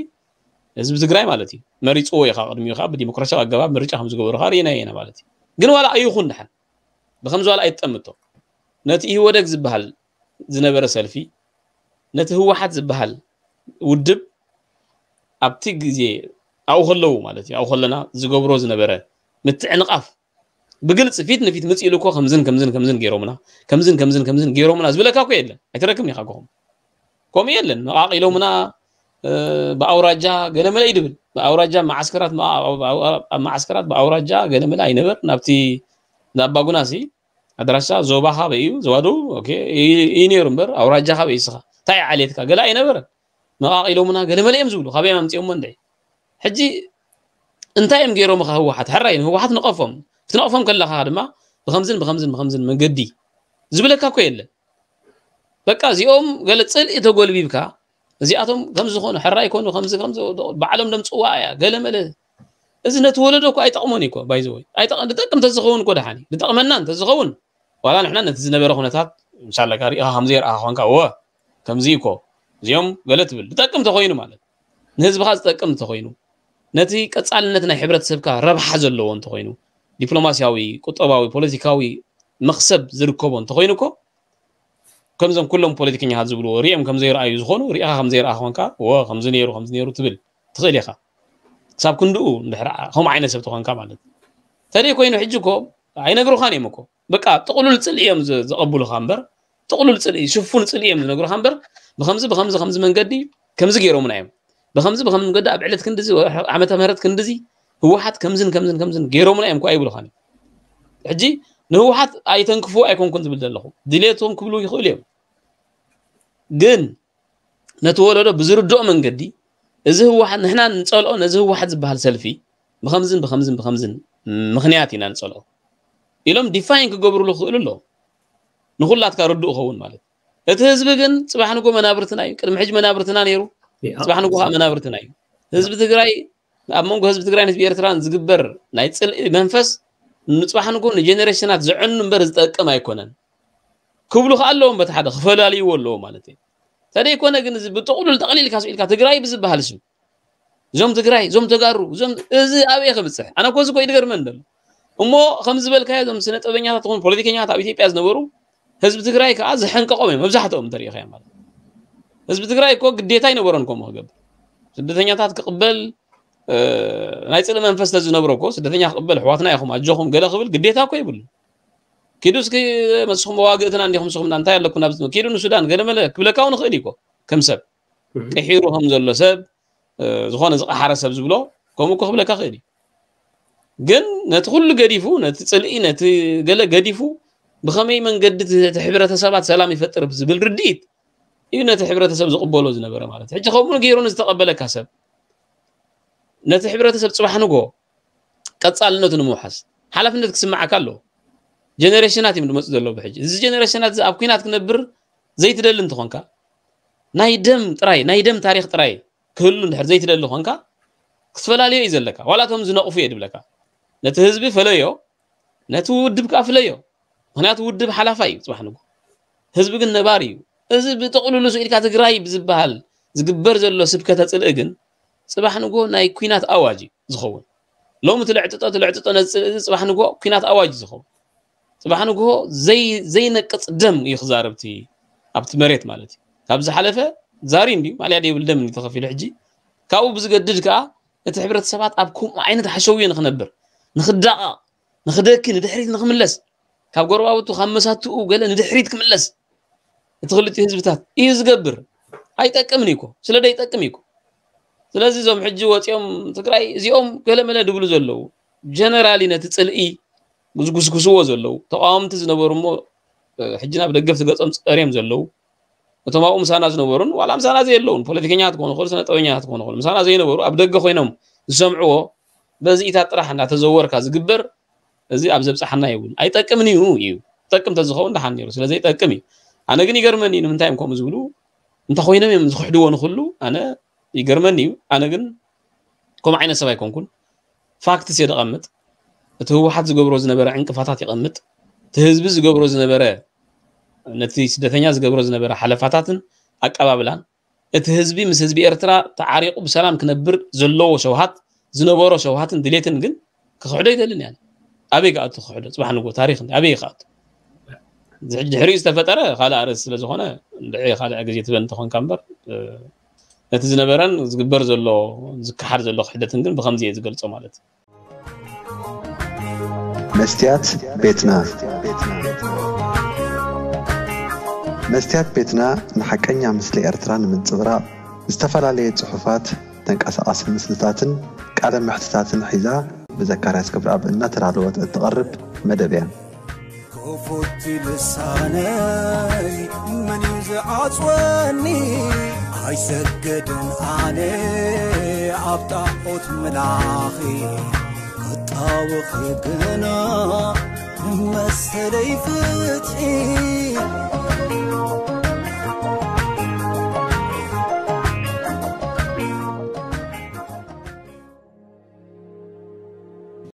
ህዝቢ ትግራይ ማለት እዩ መሪፅዎ እዩ ካብ ቅድሚኡ ከዓ ብዲሞክራሲያዊ ኣገባብ ምርጫ ከም ዝገበሩ ከዓ ርኢና ኢና ማለት እዩ ግን ዋላ ኣይኹን ድሓን ብከምዚ ዋላ ኣይትጠምቶ ነቲ ኢህወደግ ዝበሃል ዝነበረ ሰልፊ ነቲ ህወሓት ዝበሃል ውድብ ኣብቲ ግዜ ኣብኡ ከለዉ ማለት እዩ ኣብኡ ከለና ዝገብሮ ዝነበረ ምትዕንቓፍ ብግልፂ ፊት ንፊት ምፅእ ኢሉ እኮ ከምዝን ከምዝን ከምዝን ገይሮምና ከምዝን ከምዝን ከምዝን ገይሮምና ዝብለካ እኮ የለን ኣይትረክብን ኢኻ ኮኹም ከምኡ የለን መቓቒሎምና ብኣውራጃ ገለመለ ይድብል ብኣውራጃ መዓስከራት ኣብ መዓስከራት ብኣውራጃ ገለመለ ኣይነበር ናብቲ ናባጉናሲ ኣድራሻ ዞባኻ በይ እዩ ዞባ ደቡብ እዩ ነይሩ እምበር ኣውራጃኻ በይ እስኻ እንታይ ዓሌትካ ገለ ኣይነበረን መቓቒሎምና ገለመለ እዮም ዝብሉ ካበይ ኣምፅኦሞ እንድዒ ሕጂ እንታይ እዮም ገይሮምኻ ህወሓት ሕራይ ንህወሓት ንቐፎም ክትነቕፎም ከለኻ ድማ ብከምዝን ብከምዝን ብከምዝን መንገዲ ዝብለካ እኮ የለን በቃ እዚኦም ገለ ፅልኢ ተጎልቢብካ እዚኣቶም ከምዚ ዝኾኑ ሕራይ ይኮኑ ከምዚ ከምዚ ባዕሎም ደምፅዋ እያ ገለ መለ እዚ ነቲ ወለዶ እኮ ኣይጠቕሞን እዩ እኮ ባይዘወይ ኣይጠቕ- ዝጠቅም ተዝኸውን እኮ ደሓን እዩ ዝጠቕመና እንተዝኸውን ዋላ ንሕና ነቲ ዝነበረ ኩነታት ምሳለካ ሪኢኻ ከምዘይረኣኻ ኮንካ እወ ከምዚ እኮ እዚኦም ገለ ትብል ዝጠቅም ተኮይኑ ማለት ንህዝብኻ ዝጠቅም እንተኮይኑ ነቲ ቀፃልነት ናይ ሕብረተሰብካ ረብሓ ዘለዎ እንተኮይኑ ዲፕሎማሲያዊ ቁጠባዊ ፖለቲካዊ መክሰብ ዝርከቦ እንተኮይኑ እኮ ከምዞም ኩሎም ፖለቲከኛታት ዝብልዎ ሪኦም ከም ዘይረኣዩ ዝኾኑ ሪኢኻ ከም ዘይረኣኻ ኮንካ ወ ከምዚ ነይሩ ከምዚ ነይሩ ትብል ትኽእል ኢኻ ክሳብ ክንድኡ እንድሕር ከምኡ ዓይነት ሰብ ተኾንካ ማለት ተደይ ኮይኑ ሕጂ እኮ ኣይነግሩኻን እዮም እኮ በቃ ጥቕሉል ፅልኢ እዮም ዘቐብሉኻ እምበር ጥቕሉል ፅልኢ ሽፉን ፅልኢ እዮም ዝነግሩኻ እምበር ብከምዚ ብከምዚ ከምዚ መንገዲ ከምዚ ገይሮምና እዮም ብከምዚ ብከምዚ መንገዲ ኣብ ዕለት ክንድዚ ዓመተ ምህረት ክንድዚ ህወሓት ከምዝን ከምዝን ከምዝን ገይሮምና እዮም እኳ ይብሉኻን ሕጂ ንህወሓት ኣይተንክፉ ኣይኮንኩን ዝብል ዘለኹ ድሌቶም ክብሉ ይኽእሉ እዮም ግን ነቲ ወለዶ ብዝርድኦ መንገዲ እዚ ህወሓት ንሕና ንፀልኦ ነዚ ህወሓት ዝበሃል ሰልፊ ብከምዝን ብከምዝን ብከምዝን ምክንያት ኢና ንፀልኦ ኢሎም ዲፋይን ክገብሩሉ ክኽእሉ ኣለዎም ንኩላትካ ርዱእ ኸውን ማለት እቲ ህዝቢ ግን ፅባሕ ንጎ መናብርትና እዩ ቅድሚ ሕጂ መናብርትና ነይሩ ፅባሕ ንጎ ከዓ መናብርትና እዩ ህዝቢ ትግራይ ኣብ መንጎ ህዝቢ ትግራይን ህዝቢ ኤርትራን ዝግበር ናይ ፅልኢ መንፈስ ንፅባሕ ንጎ ንጀኔሬሽናት ዘዕኑ እምበር ዝጠቅም ኣይኮነን ክብሉ ከዓ ኣለዎም በቲ ሓደ ክፈላልይዎ ኣለዎ ማለት እዩ ተደይኮነ ግን እዚ ብጥቕሉል ጠቕሊልካ ስኢልካ ትግራይ ብዝበሃል ስም እዞም ትግራይ እዞም ተጋሩ እዞም እዚ ኣበየ ክብፅሕ ኣነ ኮዚ ኮ ይድገርመን ደሎ እሞ ከም ዝበልካዮ እዞም ስነ ጥበበኛታት ኾኑ ፖለቲከኛታት ኣብ ኢትዮጵያ ዝነበሩ ህዝቢ ትግራይ ከዓ ዝሐንቀቆም እዮም መብዛሕትኦም እንተሪኢኻዮ ማለት ህዝቢ ትግራይ እኮ ግዴታ ኣይነበሮን ከምኡ ክገብር ስደተኛታት ክቕበል ናይ ጽልኢ መንፈስ ተዝነብሮ እኮ ስደተኛ ክቕበል፣ ኣሕዋትና ኢኹም ኣጆኹም ገለ ክብል ግዴታ እኮ ይብሉ። ኪዱ እስኪ መስኹም መዋግእትና እንዲኹም፣ ንስኹም እንታይ ኣለኩም ናብ ኪዱ ንሱዳን ገለ መለ ክብለካ እውን ይኽእል እዩ እኮ። ከም ሰብ ቅሒሩ ከም ዘሎ ሰብ፣ ዝኾነ ዝቐሓረ ሰብ ዝብሎ ከምኡ እኮ ክብለካ ክእል እዩ። ግን ነቲ ኩሉ ገዲፉ፣ ነቲ ጽልኢ፣ ነቲ ገለ ገዲፉ፣ ብኸመይ መንገዲ እቲ ሕብረተሰባት ሰላም ይፈጥር ዝብል ርድኢት እዩ ነቲ ሕብረተሰብ ዝቕበሎ ዝነበረ ማለት። ሕጂ ከምኡ ገይሩ ንዝተቐበለካ ሰብ፣ ነቲ ሕብረተሰብ ጽባሕ ንጎ ቀጻልነቱ ንምውሓስ ሓላፍነት ክስምዓካ ኣለዎ። ጀነሬሽናት እዮም ዝመፁ ዘለዉ ብሕጂ። እዚ ጀነሬሽናት እዚ ኣብ ኩናት ክነብር ዘይትደሊ እንተኾንካ፣ ናይ ደም ጥራይ፣ ናይ ደም ታሪኽ ጥራይ ክህሉ እንድሕር ዘይትደሊ ኾንካ፣ ክትፈላለዮ እዩ ዘለካ። ዋላ እቶም ዝነቕፉ እየ ድብለካ። ነቲ ህዝቢ ፈለዮ፣ ነቲ ውድብ ከኣ ፍለዮ። ምኽንያቱ ውድብ ሓላፋይ እዩ ጽባሕ ንጎ። ህዝቢ ግን ነባሪ እዩ። እዚ ብጥቕልሉ ስኢልካ ትግራይ ብዝበሃል ዝግበር ዘሎ ስብከተ ጽልኢ ግን ጽባሕ ንጎ ናይ ኩናት ኣዋጅ እዩ ዝኸውን። ሎሚ ትልዕጥጦ ትልዕጥጦ ነዚ ጽልኢ እዚ ጽባሕ ንጎ ኩናት ኣዋጅ እዩ ዝኸውን። ጽባሕ ንጎ ዘይ ዘይነቅጽ ደም እዩ ክዛረብ እቲ ኣብቲ መሬት ማለት እዩ። ካብ ዝሓለፈ ዛሪ እንድዩ ማልያ ደይብል ደም እንድዩ ተኸፊሉ። ሕጂ ካብኡ ብዝገድድ ከኣ እቲ ሕብረተሰባት ኣብ ከምኡ ዓይነት ሓሸውዮ ንኽነብር፣ ንኽዳቐቕ፣ ንኽደኪ፣ ንድሕሪት ንኽምለስ፣ ካብ ጎረባብቱ ካብ መሳትኡ ገለ ንድሕሪት ክምለስ እቲ ክልቲኡ ህዝብታት እዩ ዝገብር። ኣይጠቅምን እዩ እኮ፣ ስለ ደይጠቅም እዩ እኮ። ስለዚ እዞም ሕጂ ወፂኦም ትግራይ እዚኦም ገለመለ ድብሉ ዘለዉ ጀነራሊ ነቲ ፅልኢ ዝጉስጉስዎ ዘለዉ ተቃወምቲ ዝነበሩ እሞ ሕጂ ናብ ደገፍቲ ገፆም ፀርዮም ዘለዉ እቶም ኣብኡ ምሳና ዝነበሩን ዋላ ምሳና ዘየለውን ፖለቲከኛታት ክኾኑ ይኽእሉ፣ ስነ ጥበበኛታት ክኾኑ ይኽእሉ፣ ምሳና ዘይነበሩ ኣብ ደገ ኮይኖም ዝሰምዕዎ በዚ ኢታት ጥራሕ እናተዘወርካ ዝግበር እዚ ኣብ ዘብፅሓና የብሉን። ኣይጠቅምን እዩ እዩ። ጠቅም ተዝኸውን ደሓን ነይሩ። ስለ ዘይጠቅም እዩ። ኣነ ግን ይገርመኒ እዩ ንምንታይ እዮም ከምኡ ዝብሉ። እንተኾይኖም እዮም ዝኽሕድዎ ንኹሉ ኣነ ይገርመኒ እዩ። ኣነ ግን ከምኡ ዓይነት ሰብ ኣይኮንኩን። ፋክትስ እየ ደቐምጥ። እቲ ህወሓት ዝገብሮ ዝነበረ ዕንቅፋታት ይቐምጥ። እቲ ህዝቢ ዝገብሮ ዝነበረ ነቲ ስደተኛ ዝገብሮ ዝነበረ ሓለፋታትን ኣቀባብላን እቲ ህዝቢ ምስ ህዝቢ ኤርትራ ተዓሪቑ ብሰላም ክነብር ዘለዎ ሸውሃት ዝነበሮ ሸውሃትን ድሌትን ግን ክኽሕዶ ይደልን እያ። ኣበይ ክኣቱ ክኽሕዶ? ጽባሕ ንጎ ታሪኽ እንዲ ኣበይ ክኣቱ? እዚ ሕጂ ድሕሪኡ ዝተፈጠረ ካልእ ኣርእስቲ ስለ ዝኾነ እንድዒ ካልእ ግዜ ትበል እንተኾንካ እምበር ነቲ ዝነበረን ዝግበር ዘሎ ዝከሓድ ዘሎ ክሕደትን ግን ብኸምዚ እየ ዝገልጾ ማለት እዩ። መስትያት ቤትና መስትያት ቤትና ንሓቀኛ ምስሊ ኤርትራ ንምንጽብራቕ ዝተፈላለየ ጽሑፋት፣ ተንቀሳቓሲ ምስልታትን ቃለ መሕትታትን ሒዛ ብዘካርያስ ክብረኣብ እናተዳለወት እትቐርብ መደብ እያ። ክፉት ልሳነይ መን እዩ ዝዓጽወኒ? ኣይሰገድን ኣነ ኣብ ጣዖት ምላኺ ክጣወኺ ግና ንመሰለይ ፍትሒ